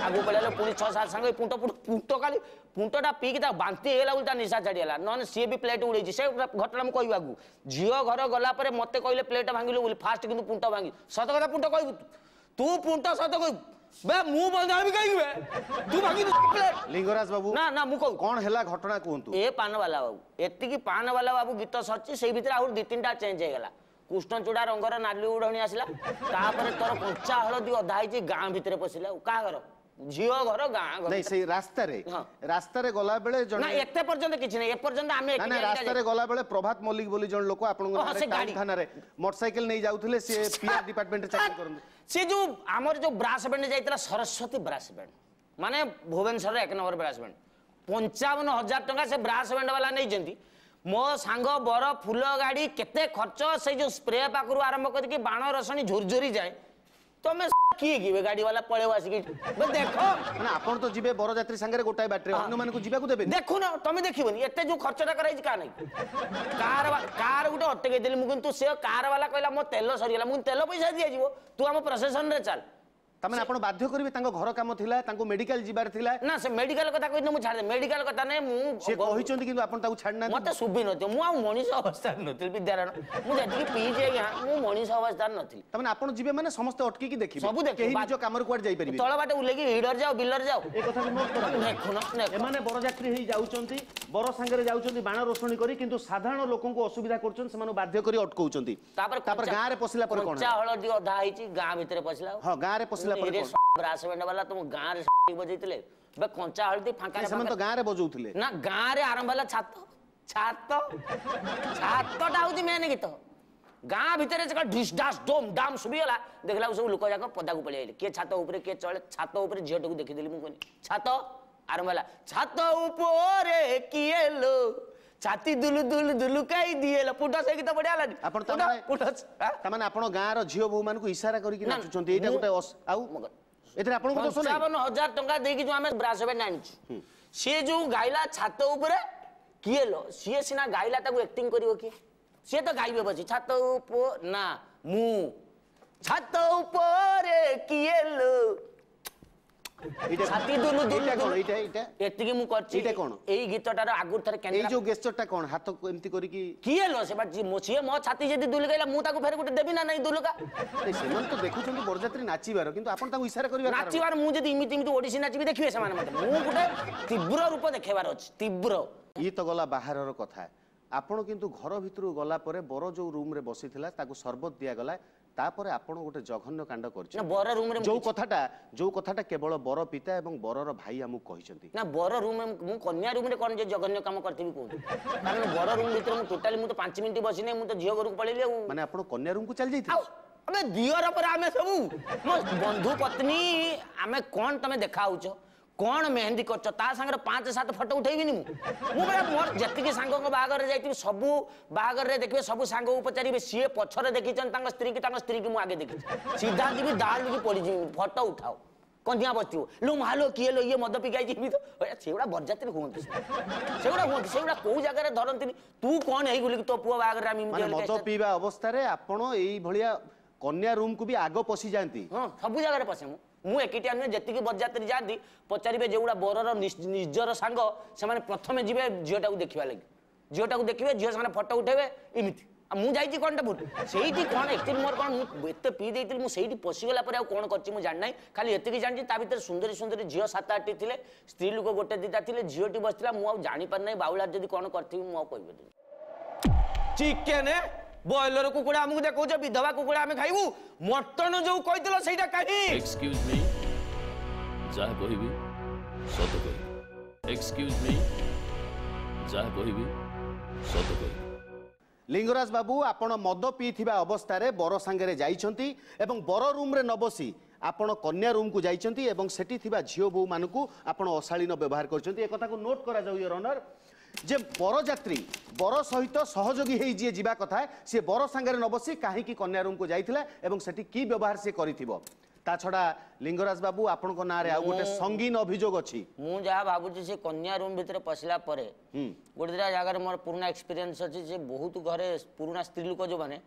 ଆଗକୁ ପଳେଇଲା, ପୁଣି 6 7 ସାଙ୍ଗ ପୁଣ୍ଟ ପୁଣ୍ଟ ପୁଣ୍ଟ କାଲି ପୁଣ୍ଟଟା ପିଇକି ତା ବାନ୍ତି ହେଇଗଲା ବୋଲି ତା ନିଶା ଛାଡ଼ିଗଲା, ନହେଲେ ସିଏ ବି ପ୍ଲେଟ୍ ଉଡ଼େଇଛି। ସେ ଘଟଣା ମୁଁ କହିବି ଆଗକୁ। ଝିଅ ଘର ଗଲା ପରେ ମୋତେ କହିଲେ ପ୍ଲେଟ୍ ଭାଙ୍ଗିଲୁ ବୋଲି, ଫାଷ୍ଟ କିନ୍ତୁ ପୁଣ୍ଟ ଭାଙ୍ଗି। ସତ କଥା ପୁଣ୍ଟ କହିବୁ ତୁ, ପୁଣ୍ଟ ସତ କହିବୁ ବେ, ମୁଁ ବନ୍ଧା ହେବି କାହିଁକି ବେ, ତୁ ଭାଙ୍ଗିଲୁ ପ୍ଲେଟ୍। ଲିଙ୍ଗରାଜ ବାବୁ, ନା ନା, ମୁଁ କହୁ କଣ ହେଲା ଘଟଣା କୁହନ୍ତୁ। ଏ ପାନବାଲା ବାବୁ ଏତିକି, ପାନବାଲା ବାବୁ ଗୀତ ସରିଛି, ସେଇ ଭିତରେ ଆହୁରି 2 3ଟା ଚେଞ୍ଜ ହେଇଗଲା। କୃଷ୍ଣଚୂଡ଼ା ରଙ୍ଗର ନାଲି ଉଢ଼ଣି ଆସିଲା, ତାପରେ ତୋର କଞ୍ଚା ହଳଦୀ ଅଧା ହେଇଛି। ଗାଁ ଭିତରେ ପଶିଲା ଆଉ କାହା ଘର? ଝିଅ ଘର ଗାଁ ଘର। ନାଇଁ, ସେଇ ରାସ୍ତାରେ, ରାସ୍ତାରେ ଗଲା ବେଳେ ଜଣେ ନା, ଏତେ ପର୍ଯ୍ୟନ୍ତ କିଛି ନାହିଁ, ଏପର୍ଯ୍ୟନ୍ତ ଆମେ ନା ନା, ରାସ୍ତାରେ ଗଲା ବେଳେ ପ୍ରଭାତ ମଲ୍ଲିକ ବୋଲି ଜଣେ ଲୋକ ଆପଣଙ୍କ ଥାନାରେ ମୋଟରସାଇକେଲ ନେଇ ଯାଉଥିଲେ, ସିଏ ପିଆର ଡିପାର୍ଟମେଣ୍ଟରେ ଚାକିରି କରନ୍ତି। ସେ ଯୋଉ ଆମର ଯୋଉ ବ୍ରାସ ବ୍ୟାଣ୍ଡ ଯାଇଥିଲା, ସରସ୍ୱତୀ ବ୍ରାସ ବ୍ୟାଣ୍ଡ, ମାନେ ଭୁବନେଶ୍ୱରର 1 ନମ୍ବର ବ୍ରାସ ବ୍ୟାଣ୍ଡ, 55,000 ଟଙ୍କା ସେ ବ୍ରାସ ବ୍ୟାଣ୍ଡ ବାଲା ନେଇଛନ୍ତି। ମୋ ସାଙ୍ଗ ବର ଫୁଲ ଗାଡ଼ି କେତେ ଖର୍ଚ୍ଚ, ସେଇ ଯୋଉ ସ୍ପ୍ରେ ପାଖରୁ ଆରମ୍ଭ କରିକି ବାଣ ରସଣି ଝୁରଝୁରି ଯାଏ। ତମେ କିଏ କି ଗାଡି ବାଲା ପଳେଇବ ଆସିକି ଦେଖ। ମାନେ ଆପଣ ତ ଯିବେ ବରଯାତ୍ରୀ ସାଙ୍ଗରେ ଗୋଟାଏ ବାଟରେ, ଅନ୍ୟମାନଙ୍କୁ ଯିବାକୁ ଦେବେ? ଦେଖୁନ, ତମେ ଦେଖିବନି ଏତେ ଯୋଉ ଖର୍ଚ୍ଚଟା କରାଯାଇଛି କାହା ନାଇଁ। କାର କାର ଗୋଟେ ଅଟକେଇ ଦେଲି ମୁଁ, କିନ୍ତୁ ସେ କାର ବାଲା କହିଲା ମୋ ତେଲ ସରିଗଲା। ମୁଁ ତେଲ ପଇସା ଦିଆଯିବ, ତୁ ଆମ ପ୍ରସେସନରେ ଚାଲ। ତାମାନେ ଆପଣ ବାଧ୍ୟ କରିବେ? ତାଙ୍କ ଘର କାମ ଥିଲା, ତାଙ୍କୁ ମେଡିକାଲ ଯିବାର ଥିଲା। ନା, ସେ ମେଡିକାଲ କଥା କହିଥିଲେ ମୁଁ ଛାଡ଼ିଦେ, ମେଡିକାଲ କଥା ନାହିଁ। ମୁଁ ସେ କହିଛନ୍ତି କିନ୍ତୁ ଆପଣ ତାକୁ ଛାଡ଼ି ନାହାନ୍ତି। ମତେ ଶୁଭି ନଥିବ, ମୁଁ ଆଉ ମଣିଷ ଅବସ୍ଥାରେ ନଥିଲି ବିଦ୍ୟାରାୟଣ। ମୁଁ ଯେତିକି ପିଇଛି ଆଜ୍ଞା, ମୁଁ ମଣିଷ ଅବସ୍ଥାରେ ନଥିଲି। ତାମାନେ ଆପଣ ଯିବେ ମାନେ ସମସ୍ତେ ଅଟକିକି ଦେଖିବେ, ସବୁ ଦେଖିବେ, କେହି ନିଜ କାମରେ କୁଆଡେ ଯାଇପାରିବେ? ତଳ ବାଟେ ଉଲେକି ହିଡର ଯାଅ, ବିଲରେ ଯାଅ। ଏ କଥାକୁ ନୋଟ୍ କରନ୍ତୁ। ଦେଖୁନ, ଏମାନେ ବରଯାତ୍ରୀ ହେଇ ଯାଉଛନ୍ତି, ବର ସାଙ୍ଗରେ ଯାଉଛନ୍ତି ବାଣ ରୋଷଣୀ କରି, କିନ୍ତୁ ସାଧାରଣ ଲୋକଙ୍କୁ ଅସୁବିଧା କରୁଛନ୍ତି, ସେମାନଙ୍କୁ ବାଧ୍ୟ କରି ଅଟକଉଛନ୍ତି। ତାପରେ ତାପରେ ଗାଁରେ ପଶିଲା ପରେ କଣ? କଞ୍ଚା ହଳଦୀ ଅଧା ହେଇଛି, ଗାଁ ଭିତରେ ପଶିଲା। ହଁ, ଗାଁରେ ପଶିଲା ପରେ କଣ? ବ୍ରାସ ବ୍ୟାଣ୍ଡ ବାଲା ତୁମ ଗାଁରେ ବଜେଇଥିଲେ ବେ କଞ୍ଚା ହଳଦୀ ଫାଙ୍କା? ସେମାନେ ତ ଗାଁରେ ବଜଉଥିଲେ ନା, ଗାଁରେ ଆରମ୍ଭ ହେଲା ଛାତ ଛାତ ଛାତଟା ହଉଛି ମେନ୍ ଗୀତ। ଗାଁ ଭିତରେ ଢିସ୍ ଡାସ୍ ଡୋମ୍ ଡାମ୍ ଶୁଭିଗଲା, ଦେଖିଲା ସବୁ ଲୋକ ଯାକ ପଦାକୁ ପଳେଇ ଆଇଲେ, କିଏ ଛାତ ଉପରେ କିଏ ଚଳେ। ଛାତ ଉପରେ ଝିଅଟାକୁ ଦେଖିଦେଲି ମୁଁ, କହିଲି ଛାତ ଆରମ୍ଭ ହେଲା, ଛାତ ଉପରେ କିଏ ଲୋ ଛାତି ଦୁଲୁ ଦୁଲୁ ଦୁଲୁକାଇ ଦିଏ ପୁଟ। ସେ ଗୀତ ବଢିଆ ହେଲାନି? ଆପଣ ତାମାନେ ଆପଣ ଗାଁର ଝିଅ ବୋହୂ ମାନଙ୍କୁ ଇସାରା କରିକି ନାଚୁଛନ୍ତି, ଏଇଟା ଗୋଟେ? ଆଉ ଏଥିରେ ଆପଣଙ୍କ ଦୋଷ ନାହିଁ? 55,000 ଟଙ୍କା ଦେଇକି ଯୋଉ ଆମେ ବ୍ରାସ ବ୍ୟାଣ୍ଡ ଆଣିଛୁ, ସିଏ ଯୋଉ ଗାଇଲା ଛାତ ଉପରେ କିଏ ଲୋ, ସିଏ ସିନା ଗାଇଲା, ତାକୁ ଆକ୍ଟିଂ କରିବ କିଏ? ସିଏ ତ ଗାଇବେ ବସି ଛାତ ଉପ ନା, ମୁଁ ଛାତ ଉପରେ କିଏ ଲୋ ଛାତି ଦୁଲୁ ଦୁଲୁ। ଏଇଟା ଏଇଟା ଏତିକି ମୁଁ କରିଛି। ଏଇଟା କଣ? ଏଇ ଗୀତଟାର ଆଗରୁ ଥରେ ଏଇ ଯୋଉ ଗେସ୍ଚରଟା କଣ, ହାତ ଏମିତି କରିକି କିଏ ଲୋ, ସେ ସିଏ ମୋ ଛାତି ଯଦି ଦୁଲୁକାଇଲା ମୁଁ ତାକୁ ଫେରେ ଗୋଟେ ଦେବି ନା ନାଇଁ ଦୁଲୁକା? ସେମାନେ ତ ଦେଖୁଛନ୍ତି ବରଯାତ୍ରୀ ନାଚିବାର, କିନ୍ତୁ ଆପଣ ତାକୁ ଇସାରା କରିବାର ନାଚିବାର। ମୁଁ ଯଦି ଏମିତି ଏମିତି ଓଡିଶୀ ନାଚିବି ଦେଖିବେ ସେମାନେ ମତେ। ମୁଁ ଗୋଟେ ତୀବ୍ର ରୂପ ଦେଖେଇବାର ଅଛି, ତୀବ୍ର। ଇଏ ତ ଗଲା ବାହାରର କଥା। ଆପଣ କିନ୍ତୁ ଘର ଭିତରକୁ ଗଲା ପରେ ବର ଯୋଉ ରୁମରେ ବସିଥିଲା ତାକୁ ସରବତ ଦିଆଗଲା, ତାପରେ ଆପଣ ଗୋଟେ ଜଘନ୍ୟ କାଣ୍ଡ କରିଛନ୍ତି ବର ରୁମରେ, ଯୋଉ କଥାଟା କେବଳ ବର ପିତା ଏବଂ ବରର ଭାଇ ଆମକୁ କହିଛନ୍ତି। ନା, ବର ରୁମ, ମୁଁ କନ୍ୟା ରୁମରେ କଣ ଯେ ଜଘନ୍ୟ କାମ କରିଥିବି କୁହନ୍ତୁ? କାରଣ ବର ରୁମ ଭିତରେ ମୁଁ ଟୋଟାଲି, ମୁଁ ତ 5 ମିନିଟ୍ ବସିନି, ମୁଁ ତ ଝିଅ ଘରକୁ ପଳେଇଲି। ଆଉ ମାନେ ଆପଣ କନ୍ୟା ରୁମକୁ ଚାଲି ଯାଇଥିଲେ? ଆମେ ଦିଅର ପରେ ଆମେ ସବୁ ମୋ ବନ୍ଧୁ ପତ୍ନୀ ଆମେ କଣ ତମେ ଦେଖା ହଉଛ, କଣ ମେହେନ୍ଦି କରିଛ, ତା ସାଙ୍ଗରେ 5 7 ଫଟୋ ଉଠେଇବିନି ମୁଁ? ମୁଁ ପରା ମୋର ଯେତିକି ସାଙ୍ଗଙ୍କ ବାହାଘରରେ ଯାଇଥିବି, ସବୁ ବାହାଘରରେ ଦେଖିବେ, ସବୁ ସାଙ୍ଗକୁ ପଚାରିବେ, ସିଏ ପଛରେ ଦେଖିଛନ୍ତି ତାଙ୍କ ସ୍ତ୍ରୀକି, ତାଙ୍କ ସ୍ତ୍ରୀକି ମୁଁ ଆଗେ ଦେଖିଛି। ସିଧା ଯିବି, ଦାଳିକି ପଡ଼ିଯିବି, ଫଟୋ ଉଠାଅ। କନ୍ୟା ବସିଥିବ, ଲୋ ମାଲୋ କିଏ ଲୋ ଇଏ ମଦ ପିଇକି ଆଇଛି। ତ ସେଗୁଡ଼ା ବରଯାତ୍ରୀ ହୁଅନ୍ତି, ସେଗୁଡ଼ା ହୁଅନ୍ତି, ସେଗୁଡ଼ା କୋଉ ଜାଗାରେ ଧରନ୍ତିନି। ତୁ କଣ ହେଇଗଲୁ କି ତୋ ପୁଅ ବାହାଘରରେ ଆମେ ମଦ ପିଇବା ଅବସ୍ଥାରେ ଆପଣ ଏଇଭଳିଆ କନ୍ୟା ରୁମକୁ ବି ଆଗ ପଶି ଯାଆନ୍ତି? ହଁ, ସବୁ ଜାଗାରେ ପଶେ ମୁଁ। ମୁଁ ଏକିଟିଆ ନୁହେଁ, ଯେତିକି ବରଯାତ୍ରୀ ଯାଆନ୍ତି ପଚାରିବେ, ଯେଉଁଗୁଡ଼ା ବରର ନିଜର ସାଙ୍ଗ ସେମାନେ ପ୍ରଥମେ ଯିବେ ଝିଅଟାକୁ ଦେଖିବା ଲାଗି, ଝିଅଟାକୁ ଦେଖିବେ, ଝିଅ ସାଙ୍ଗରେ ଫଟୋ ଉଠେଇବେ ଏମିତି। ଆଉ ମୁଁ ଯାଇଛି କ'ଣଟା ଭୁଲ ସେଇଠି କ'ଣ? ଆକ୍ଚୁଆଲି ମୋର କ'ଣ, ମୁଁ ଏତେ ପିଇ ଦେଇଥିଲି, ମୁଁ ସେଇଠି ପଶିଗଲା ପରେ ଆଉ କ'ଣ କରିଛି ମୁଁ ଜାଣିନାହିଁ। ଖାଲି ଏତିକି ଜାଣିଛି ତା ଭିତରେ ସୁନ୍ଦରୀ ସୁନ୍ଦରୀ ଝିଅ 7 8ଟି ଥିଲେ, ସ୍ତ୍ରୀ ଲୋକ ଗୋଟେ 2ଟା ଥିଲେ, ଝିଅଟି ବସିଥିଲା। ମୁଁ ଆଉ ଜାଣିପାରିନାହିଁ, ବାଉଳା ଯଦି କ'ଣ କରିଥିବି ମୁଁ ଆଉ କହିପାରିବିନି। ଚିକେନ ବ୍ରଏଲର କୁକୁଡ଼ା ଆମକୁ ଦେଖାଉଛ, ବିଧବା କୁକୁଡ଼ା ଆମେ ଖାଇବୁ? ମଟନ ଯୋଉ କହିଥିଲ ସେଇଟା କାହିଁ? ଏକ୍ସକ୍ୟୁଜ ମି, ଯାହା କହିବି ସତ କହିବି। ଏକ୍ସକ୍ୟୁଜ ମି, ଯାହା କହିବି ସତ କହିବି। ଲିଙ୍ଗରାଜ ବାବୁ, ଆପଣ ମଦ ପିଇଥିବା ଅବସ୍ଥାରେ ବର ସାଙ୍ଗରେ ଯାଇଛନ୍ତି ଏବଂ ବର ରୁମ୍ରେ ନ ବସି ଆପଣ କନ୍ୟା ରୁମ୍କୁ ଯାଇଛନ୍ତି ଏବଂ ସେଠି ଥିବା ଝିଅ ବୋହୂମାନଙ୍କୁ ଆପଣ ଅଶାଳୀନ ବ୍ୟବହାର କରିଛନ୍ତି। ଏକଥାକୁ ନୋଟ୍ କରାଯାଉ your honour, ଯେ ବରଯାତ୍ରୀ ବର ସହିତ ସହଯୋଗୀ ହେଇ ଯିଏ ଯିବା କଥା, ସିଏ ବର ସାଙ୍ଗରେ ନ ବସି କାହିଁକି କନ୍ୟା ରୁମ୍କୁ ଯାଇଥିଲା ଏବଂ ସେଠି କି ବ୍ୟବହାର ସିଏ କରିଥିବ। ତା ଛଡ଼ା ଲିଙ୍ଗରାଜ ବାବୁ, ଆପଣଙ୍କ ନାଁରେ ଆଉ ଗୋଟେ ସଙ୍ଗୀନ ଅଭିଯୋଗ ଅଛି। ମୁଁ ଯାହା ଭାବୁଛି, ସେ କନ୍ୟା ରୁମ୍ ଭିତରେ ପଶିଲା ପରେ ଗୋଟେ ଦୁଇଟା ଜାଗାରେ ମୋର ପୁରୁଣା ଏକ୍ସପିରିଏନ୍ସ ଅଛି ଯେ ବହୁତ ଘରେ ପୁରୁଣା ସ୍ତ୍ରୀ ଲୋକ ଯେଉଁମାନେ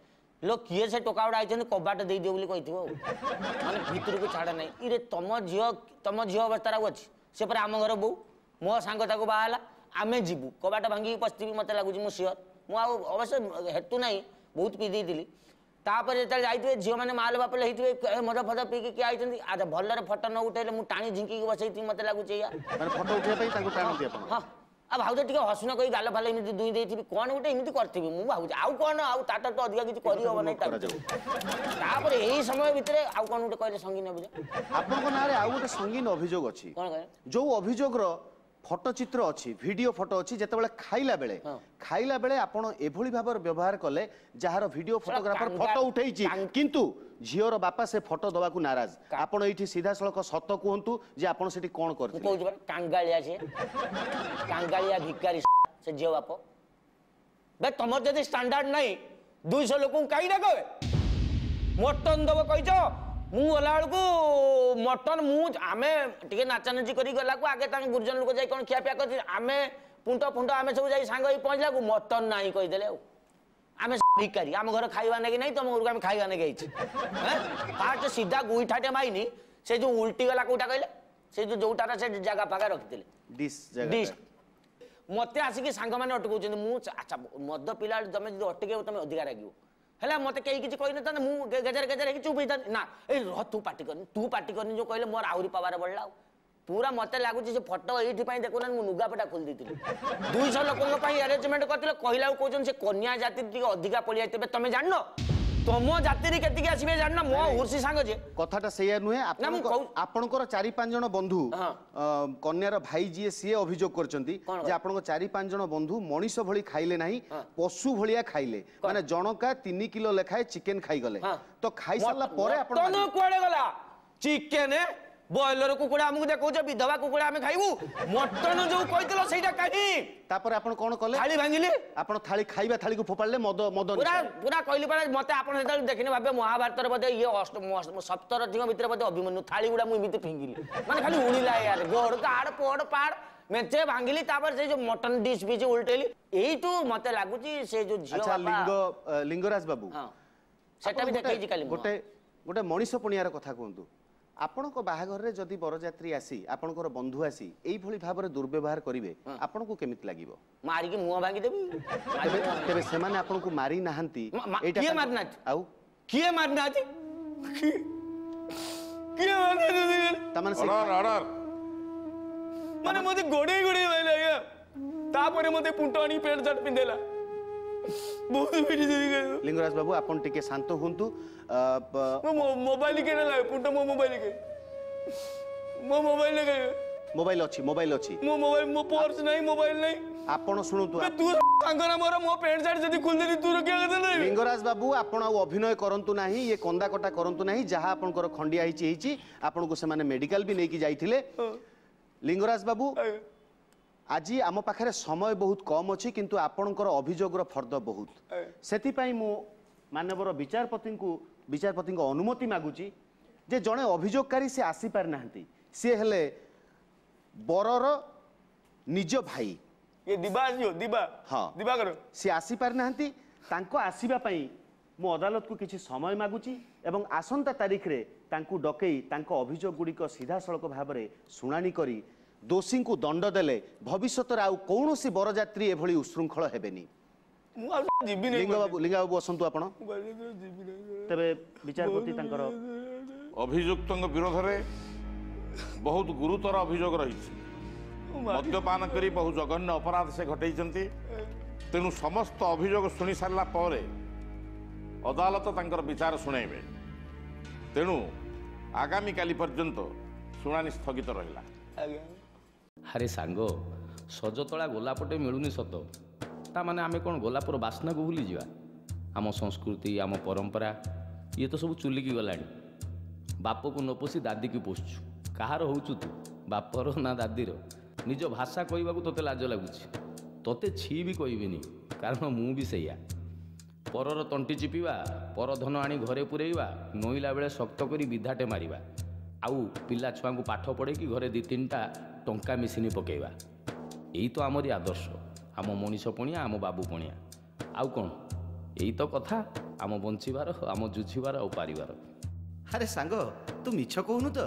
ଲୋ କିଏ ସେ ଟୋକା ଗୁଡ଼ା ଆଇଛନ୍ତି, କବାଟ ଦେଇଦିଅ ବୋଲି କହିଥିବ, ଆଉ ମାନେ ଭିତରକୁ ଛାଡ଼ ନାହିଁ। ଇରେ ତମ ଝିଅ, ତମ ଝିଅ ଅବସ୍ଥାରେ ଆଉ ଅଛି, ସେ ପରେ ଆମ ଘର ବୋଉ, ମୋ ସାଙ୍ଗ ତାକୁ ବାହା ହେଲା, ଆମେ ଯିବୁ କବାଟ ଭାଙ୍ଗିକି ପଶିଥିବି ମୋତେ ଲାଗୁଛି, ମୁଁ ସିଓର। ମୁଁ ଆଉ ଅବଶ୍ୟ ହେତୁ ନାହିଁ, ବହୁତ ପିଇ ଦେଇଥିଲି। ତାପରେ ଯେତେବେଳେ ଯାଇଥିବେ ଝିଅମାନେ ମାଲ ବାପଲ ହେଇଥିବେ, ମଦ ଫଦ ପିଇକି କିଏ ଆଇଛନ୍ତି, ଆଚ୍ଛା ଭଲରେ ଫଟୋ ନ ଉଠେଇଲେ ମୁଁ ଟାଣି ଝିଙ୍କିକି ବସେଇଥିବି, ମୋତେ ଲାଗୁଛି ଏଇଆ। ଫଟୋ ଉଠେଇବା ପାଇଁ ତାଙ୍କୁ ଟାଣନ୍ତି ଆପଣ? ହଁ, ଆଉ ଭାଉଜ ଟିକେ ହସୁନ କହି ଗାଲ ଫାଲ ଏମିତି ଦୁଇଁ ଦେଇଥିବି, କ'ଣ ଗୋଟେ ଏମିତି କରିଥିବି ମୁଁ ଭାବୁଛି। ଆଉ କ'ଣ, ଆଉ ତାଠୁ ତ ଅଧିକା କିଛି କରିହବ ନାହିଁ। ତାପରେ ଏଇ ସମୟ ଭିତରେ ଆଉ କ'ଣ ଗୋଟେ କହିଲେ ସଙ୍ଗୀନ ଅଭିଯୋଗ? ଆପଣଙ୍କ ନାଁରେ ଆଉ ଗୋଟେ ସଙ୍ଗୀନ ଅଭିଯୋଗ ଅଛି। କ'ଣ କହିଲେ? ଯୋଉ ଅଭିଯୋଗର ଫଟୋଚିତ୍ର ଅଛି, ଭିଡ଼ିଓ ଫଟୋ ଅଛି, ଯେତେବେଳେ ଖାଇଲା ବେଳେ ଆପଣ ଏଭଳି ଭାବରେ ବ୍ୟବହାର କଲେ ଯାହାର ଭିଡ଼ିଓ ଫଟୋଗ୍ରାଫର ଫଟୋ ଉଠେଇଛି, କିନ୍ତୁ ଝିଅର ବାପା ସେ ଫଟୋ ଦେବାକୁ ନାରାଜ। ଆପଣ ଏଇଠି ସିଧାସଳଖ ସତ କୁହନ୍ତୁ ଯେ ଆପଣ ସେଠି କ'ଣ କରିଥିଲେ? କହୁଛି ପରା, କାଙ୍ଗାଳିଆ, ସେ କାଙ୍ଗାଳିଆ ଭିକାରୀ ସେ ଝିଅ ବାପ। ବେ ତମର ଯଦି ଷ୍ଟାଣ୍ଡାର୍ଡ ନାହିଁ, 200 ଲୋକଙ୍କୁ କାହିଁ ଡାକବେ? ମଟନ ଦବ କହିଛ, ମୁଁ ଗଲାବେଳକୁ ମଟନ, ମୁଁ ଆମେ ଟିକେ ନାଚାନାଚି କରି ଗଲାକୁ ଆଗେ ତାଙ୍କ ଗୁରୁଜନ ଲୋକ ଯାଇ କ'ଣ ଖିଆପିଆ କରିଛି, ଆମେ ପୁଣ୍ଟ ଫୁଣ୍ଟ ଆମେ ସବୁ ଯାଇ ସାଙ୍ଗ ହେଇ ପହଞ୍ଚିଲାକୁ ମଟନ ନାହିଁ କହିଦେଲେ। ଆଉ ଆମେ ଭିକାରୀ, ଆମ ଘର ଖାଇବା ନେଇକି ନାହିଁ, ତମ ଘରକୁ ଆମେ ଖାଇବା ନେଇକି ଆଇଛୁ? ଫାଷ୍ଟ ସିଧା ଗୁଇଠାଟେ ମାଇନି, ସେ ଯୋଉ ଉଲ୍ଟି ଗଲା କୋଉଟା କହିଲେ, ସେ ଯୋଉ ଯୋଉଟାର ସେ ଜାଗା ଫାଗା ରଖିଥିଲେ ଡିସ୍। ଡିସ୍ ମତେ ଆସିକି ସାଙ୍ଗମାନେ ଅଟକଉଛନ୍ତି। ମୁଁ ଆଚ୍ଛା ମଦ ପିଲା, ତମେ ଯଦି ଅଟକେଇବ ତମେ ଅଧିକା ରାଗିବ। ହେଲା ମତେ କେହି କିଛି କହିନଥାନ୍ତେ, ମୁଁ ଗେଜେର ଗେଜେର ହେଇକି ଚୁପ୍ ହେଇଥାନ୍ତି। ନା, ଏଇ ରହ, ତୁ ପାଟି କରନି, ତୁ ପାଟି କରନି ଯୋଉ କହିଲେ, ମୋର ଆହୁରି ପାୱାର ବଢିଲା। ଆଉ ପୁରା ମତେ ଲାଗୁଛି ସେ ଫଟୋ ଏଇଥିପାଇଁ ଦେଖୁନାହାନ୍ତି, ମୁଁ ଲୁଗାପଟା ଖୋଲି ଦେଇଥିଲି। 200 ଲୋକଙ୍କ ପାଇଁ ଆରେଞ୍ଜମେଣ୍ଟ କରିଥିଲେ, କହିଲା ଆଉ କହୁଛନ୍ତି ସେ କନ୍ୟା ଜାତି ଟିକେ ଅଧିକା ପଳେଇ ଆସିଥିବେ। ତମେ ଜାଣିନ ତମ ଜାତିରେ କେତିକି ଆସିବେ, ଜାଣିନ ମୋ ଉର୍ସି ସାଙ୍ଗ ଯେ କଥାଟା ସେଇଆ ନୁହେଁ। ଆପଣଙ୍କର 4-5 ଜଣ ବନ୍ଧୁ, କନ୍ୟାର ଭାଇ ଯିଏ ସିଏ ଅଭିଯୋଗ କରିଛନ୍ତି ଯେ ଆପଣଙ୍କ 4-5 ଜଣ ବନ୍ଧୁ ମଣିଷ ଭଳି ଖାଇଲେ ନାହିଁ, ପଶୁ ଭଳିଆ ଖାଇଲେ, ମାନେ ଜଣକା 3 କିଲୋ ଲେଖାଏ ଚିକେନ ଖାଇଗଲେ। ତ ଖାଇସାରିଲା ପରେ ଆପଣ କୁଆଡେ ଗଲା ଚିକେନ? ବ୍ରଏଲର କୁକୁଡ଼ା ଆମକୁ ଦେଖାଉଛ, ବିଧବା କୁକୁଡ଼ା ଆମେ ଖାଇବୁ? ମଟନ ଯୋଉ କହିଥିଲ ସେଇଟା କାହିଁ? ତାପରେ ଆପଣ କଣ କଲେ? ଥାଳି ଭାଙ୍ଗିଲି। ଆପଣ ଥାଳି, ଖାଇବା ଥାଳିକୁ ଫୋପାଡ଼ିଲେ ମଦ ମଦ ପୁରା ପୁରା କହିଲି ପରା। ମତେ ଆପଣ ଯେତେବେଳେ ଦେଖିନେ ଭାବେ ମହାଭାରତରେ ବୋଧେ ଇଏ ସପ୍ତରଥୀଙ୍କ ଭିତରେ ବୋଧେ ଅଭିମନ୍ୟୁ। ଥାଳି ଗୁଡ଼ା ମୁଁ ଏମିତି ଫିଙ୍ଗିଲି, ମାନେ ଖାଲି ଉଡ଼ିଲା ୟାର, ଗୋଡ଼ କାଡ଼ ପୋଡ଼ ପାଡ଼ ମେଞ୍ଚେ ଭାଙ୍ଗିଲି। ତାପରେ ସେ ଯୋଉ ମଟନ ଡିସ୍ ଫିସ୍ ଉଲଟେଇଲି। ଏଇଠୁ ମତେ ଲାଗୁଛି ସେ ଯୋଉ ଝିଅ ଲିଙ୍ଗ ଲିଙ୍ଗରାଜ ବାବୁ, ସେଟା ବି ଦେଖେଇଛି କାଲି। ଗୋଟେ ଗୋଟେ ମଣିଷ ପଣିଆର କଥା କୁହନ୍ତୁ, ଆପଣଙ୍କ ବାହାଘରରେ ଯଦି ବରଯାତ୍ରୀ ଆସି, ଆପଣଙ୍କର ବନ୍ଧୁ ଆସି ଏଇଭଳି ଭାବରେ ଦୁର୍ବ୍ୟବହାର କରିବେ, ଆପଣଙ୍କୁ କେମିତି ଲାଗିବ? ମାରିକି ମୁହଁ ଭାଙ୍ଗିଦେବି। ତେବେ ସେମାନେ ଆପଣଙ୍କୁ ମାରି ନାହାନ୍ତି? ଏଇଟା କିଏ ମାରି ନାହାନ୍ତି? ଆଉ କିଏ ମାରି ନାହାନ୍ତି? କିଏ ତାମାନେ ମାନେ ମତେ ଗୋଡେଇ ଗୋଡେଇ ମାରିଲେ ଆଜ୍ଞା। ତାପରେ ମତେ ପୁଣ୍ଟ ଆଣିକି ପ୍ୟାଣ୍ଟ ସାର୍ଟ ପିନ୍ଧେଇଲା। ବହୁତ ଲିଙ୍ଗରାଜ ବାବୁ, ଆପଣ ଟିକେ ଶାନ୍ତ ହୁଅନ୍ତୁ। ମୋବାଇଲ କିଏ ନେଲା ପୁଣ୍ଟ? ମୋ ମୋବାଇଲ କେ, ମୋ ମୋବାଇଲ କେ? ମୋବାଇଲ ଅଛି, ମୋବାଇଲ ଅଛି। ମୋ ମୋବାଇଲ, ମୋ ପର୍ସ ନାହିଁ, ମୋବାଇଲ ନାହିଁ। ଆପଣ ଶୁଣନ୍ତୁ, ତୁ ସାଙ୍ଗ ନା ମୋର, ମୋ ପ୍ୟାଣ୍ଟ ସାର୍ଟ ଯଦି ଖୋଲିଦେଲି ତୁ ରଖିବା କଥା ନାହିଁ। ଲିଙ୍ଗରାଜ ବାବୁ, ଆପଣ ଆଉ ଅଭିନୟ କରନ୍ତୁ ନାହିଁ, ଇଏ କନ୍ଦା କଟା କରନ୍ତୁ ନାହିଁ। ଯାହା ଆପଣଙ୍କର ଖଣ୍ଡିଆ ହେଇଛି ହେଇଛି, ଆପଣଙ୍କୁ ସେମାନେ ମେଡିକାଲ ବି ନେଇକି ଯାଇଥିଲେ। ଲିଙ୍ଗରାଜ ବାବୁ, ଆଜି ଆମ ପାଖରେ ସମୟ ବହୁତ କମ୍ ଅଛି, କିନ୍ତୁ ଆପଣଙ୍କର ଅଭିଯୋଗର ଫର୍ଦ୍ଦ ବହୁତ। ସେଥିପାଇଁ ମୁଁ ମାନ୍ୟବର ବିଚାରପତିଙ୍କୁ, ବିଚାରପତିଙ୍କ ଅନୁମତି ମାଗୁଛି ଯେ ଜଣେ ଅଭିଯୋଗକାରୀ ସେ ଆସିପାରିନାହାନ୍ତି, ସିଏ ହେଲେ ବରର ନିଜ ଭାଇ। ଦିବା ଆସିବ, ଦିବା। ହଁ, ଦିବାକର। ସିଏ ଆସିପାରିନାହାନ୍ତି। ତାଙ୍କ ଆସିବା ପାଇଁ ମୁଁ ଅଦାଲତକୁ କିଛି ସମୟ ମାଗୁଛି ଏବଂ ଆସନ୍ତା ତାରିଖରେ ତାଙ୍କୁ ଡକେଇ ତାଙ୍କ ଅଭିଯୋଗ ଗୁଡ଼ିକ ସିଧାସଳଖ ଭାବରେ ଶୁଣାଣି କରି ଦୋଷୀଙ୍କୁ ଦଣ୍ଡ ଦେଲେ ଭବିଷ୍ୟତରେ ଆଉ କୌଣସି ବରଯାତ୍ରୀ ଏଭଳି ଉଶୃଙ୍ଖଳ ହେବେନି। ଲିଙ୍ଗବାବୁ, ଲିଙ୍ଗବାବୁ ବସନ୍ତୁ ଆପଣ। ତେବେ ବିଚାରପତି ତାଙ୍କର ଅଭିଯୁକ୍ତଙ୍କ ବିରୋଧରେ ବହୁତ ଗୁରୁତର ଅଭିଯୋଗ ରହିଛି। ମଦ୍ୟପାନ କରି ବହୁ ଜଘନ୍ୟ ଅପରାଧ ସେ ଘଟେଇଛନ୍ତି। ତେଣୁ ସମସ୍ତ ଅଭିଯୋଗ ଶୁଣି ସାରିଲା ପରେ ଅଦାଲତ ତାଙ୍କର ବିଚାର ଶୁଣାଇବେ। ତେଣୁ ଆଗାମୀ କାଲି ପର୍ଯ୍ୟନ୍ତ ଶୁଣାଣି ସ୍ଥଗିତ ରହିଲା। ଆରେ ସାଙ୍ଗ, ସଜତଳା ଗୋଲାପଟେ ମିଳୁନି ସତ, ତା ମାନେ ଆମେ କ'ଣ ଗୋଲାପର ବାସ୍ନାକୁ ଭୁଲିଯିବା? ଆମ ସଂସ୍କୃତି, ଆମ ପରମ୍ପରା, ଇଏ ତ ସବୁ ଚୁଲିକି ଗଲାଣି। ବାପକୁ ନ ପୋଷି ଦାଦିକୁ ପୋଷୁଛୁ। କାହାର ହଉଛୁ ତୁ, ବାପର ନା ଦାଦିର? ନିଜ ଭାଷା କହିବାକୁ ତୋତେ ଲାଜ ଲାଗୁଛି। ତୋତେ ଛି ବି କହିବିନି, କାରଣ ମୁଁ ବି ସେଇଆ। ପରର ତଣ୍ଟି ଚିପିବା, ପର ଧନ ଆଣି ଘରେ ପୁରେଇବା, ନଇଲା ବେଳେ ଶକ୍ତ କରି ବିଧାଟେ ମାରିବା, ଆଉ ପିଲା ଛୁଆଙ୍କୁ ପାଠ ପଢ଼େଇକି ଘରେ 2 3ଟା ଟଙ୍କା ମେସିନ୍ ପକେଇବା, ଏଇ ତ ଆମରି ଆଦର୍ଶ, ଆମ ମଣିଷ ପଣିଆ, ଆମ ବାବୁ ପଣିଆ। ଆଉ କ'ଣ? ଏଇ ତ କଥା ଆମ ବଞ୍ଚିବାର, ଆମ ଜୁଝିବାର ଆଉ ପାରିବାର। ଆରେ ସାଙ୍ଗ, ତୁ ମିଛ କହୁନୁ ତ?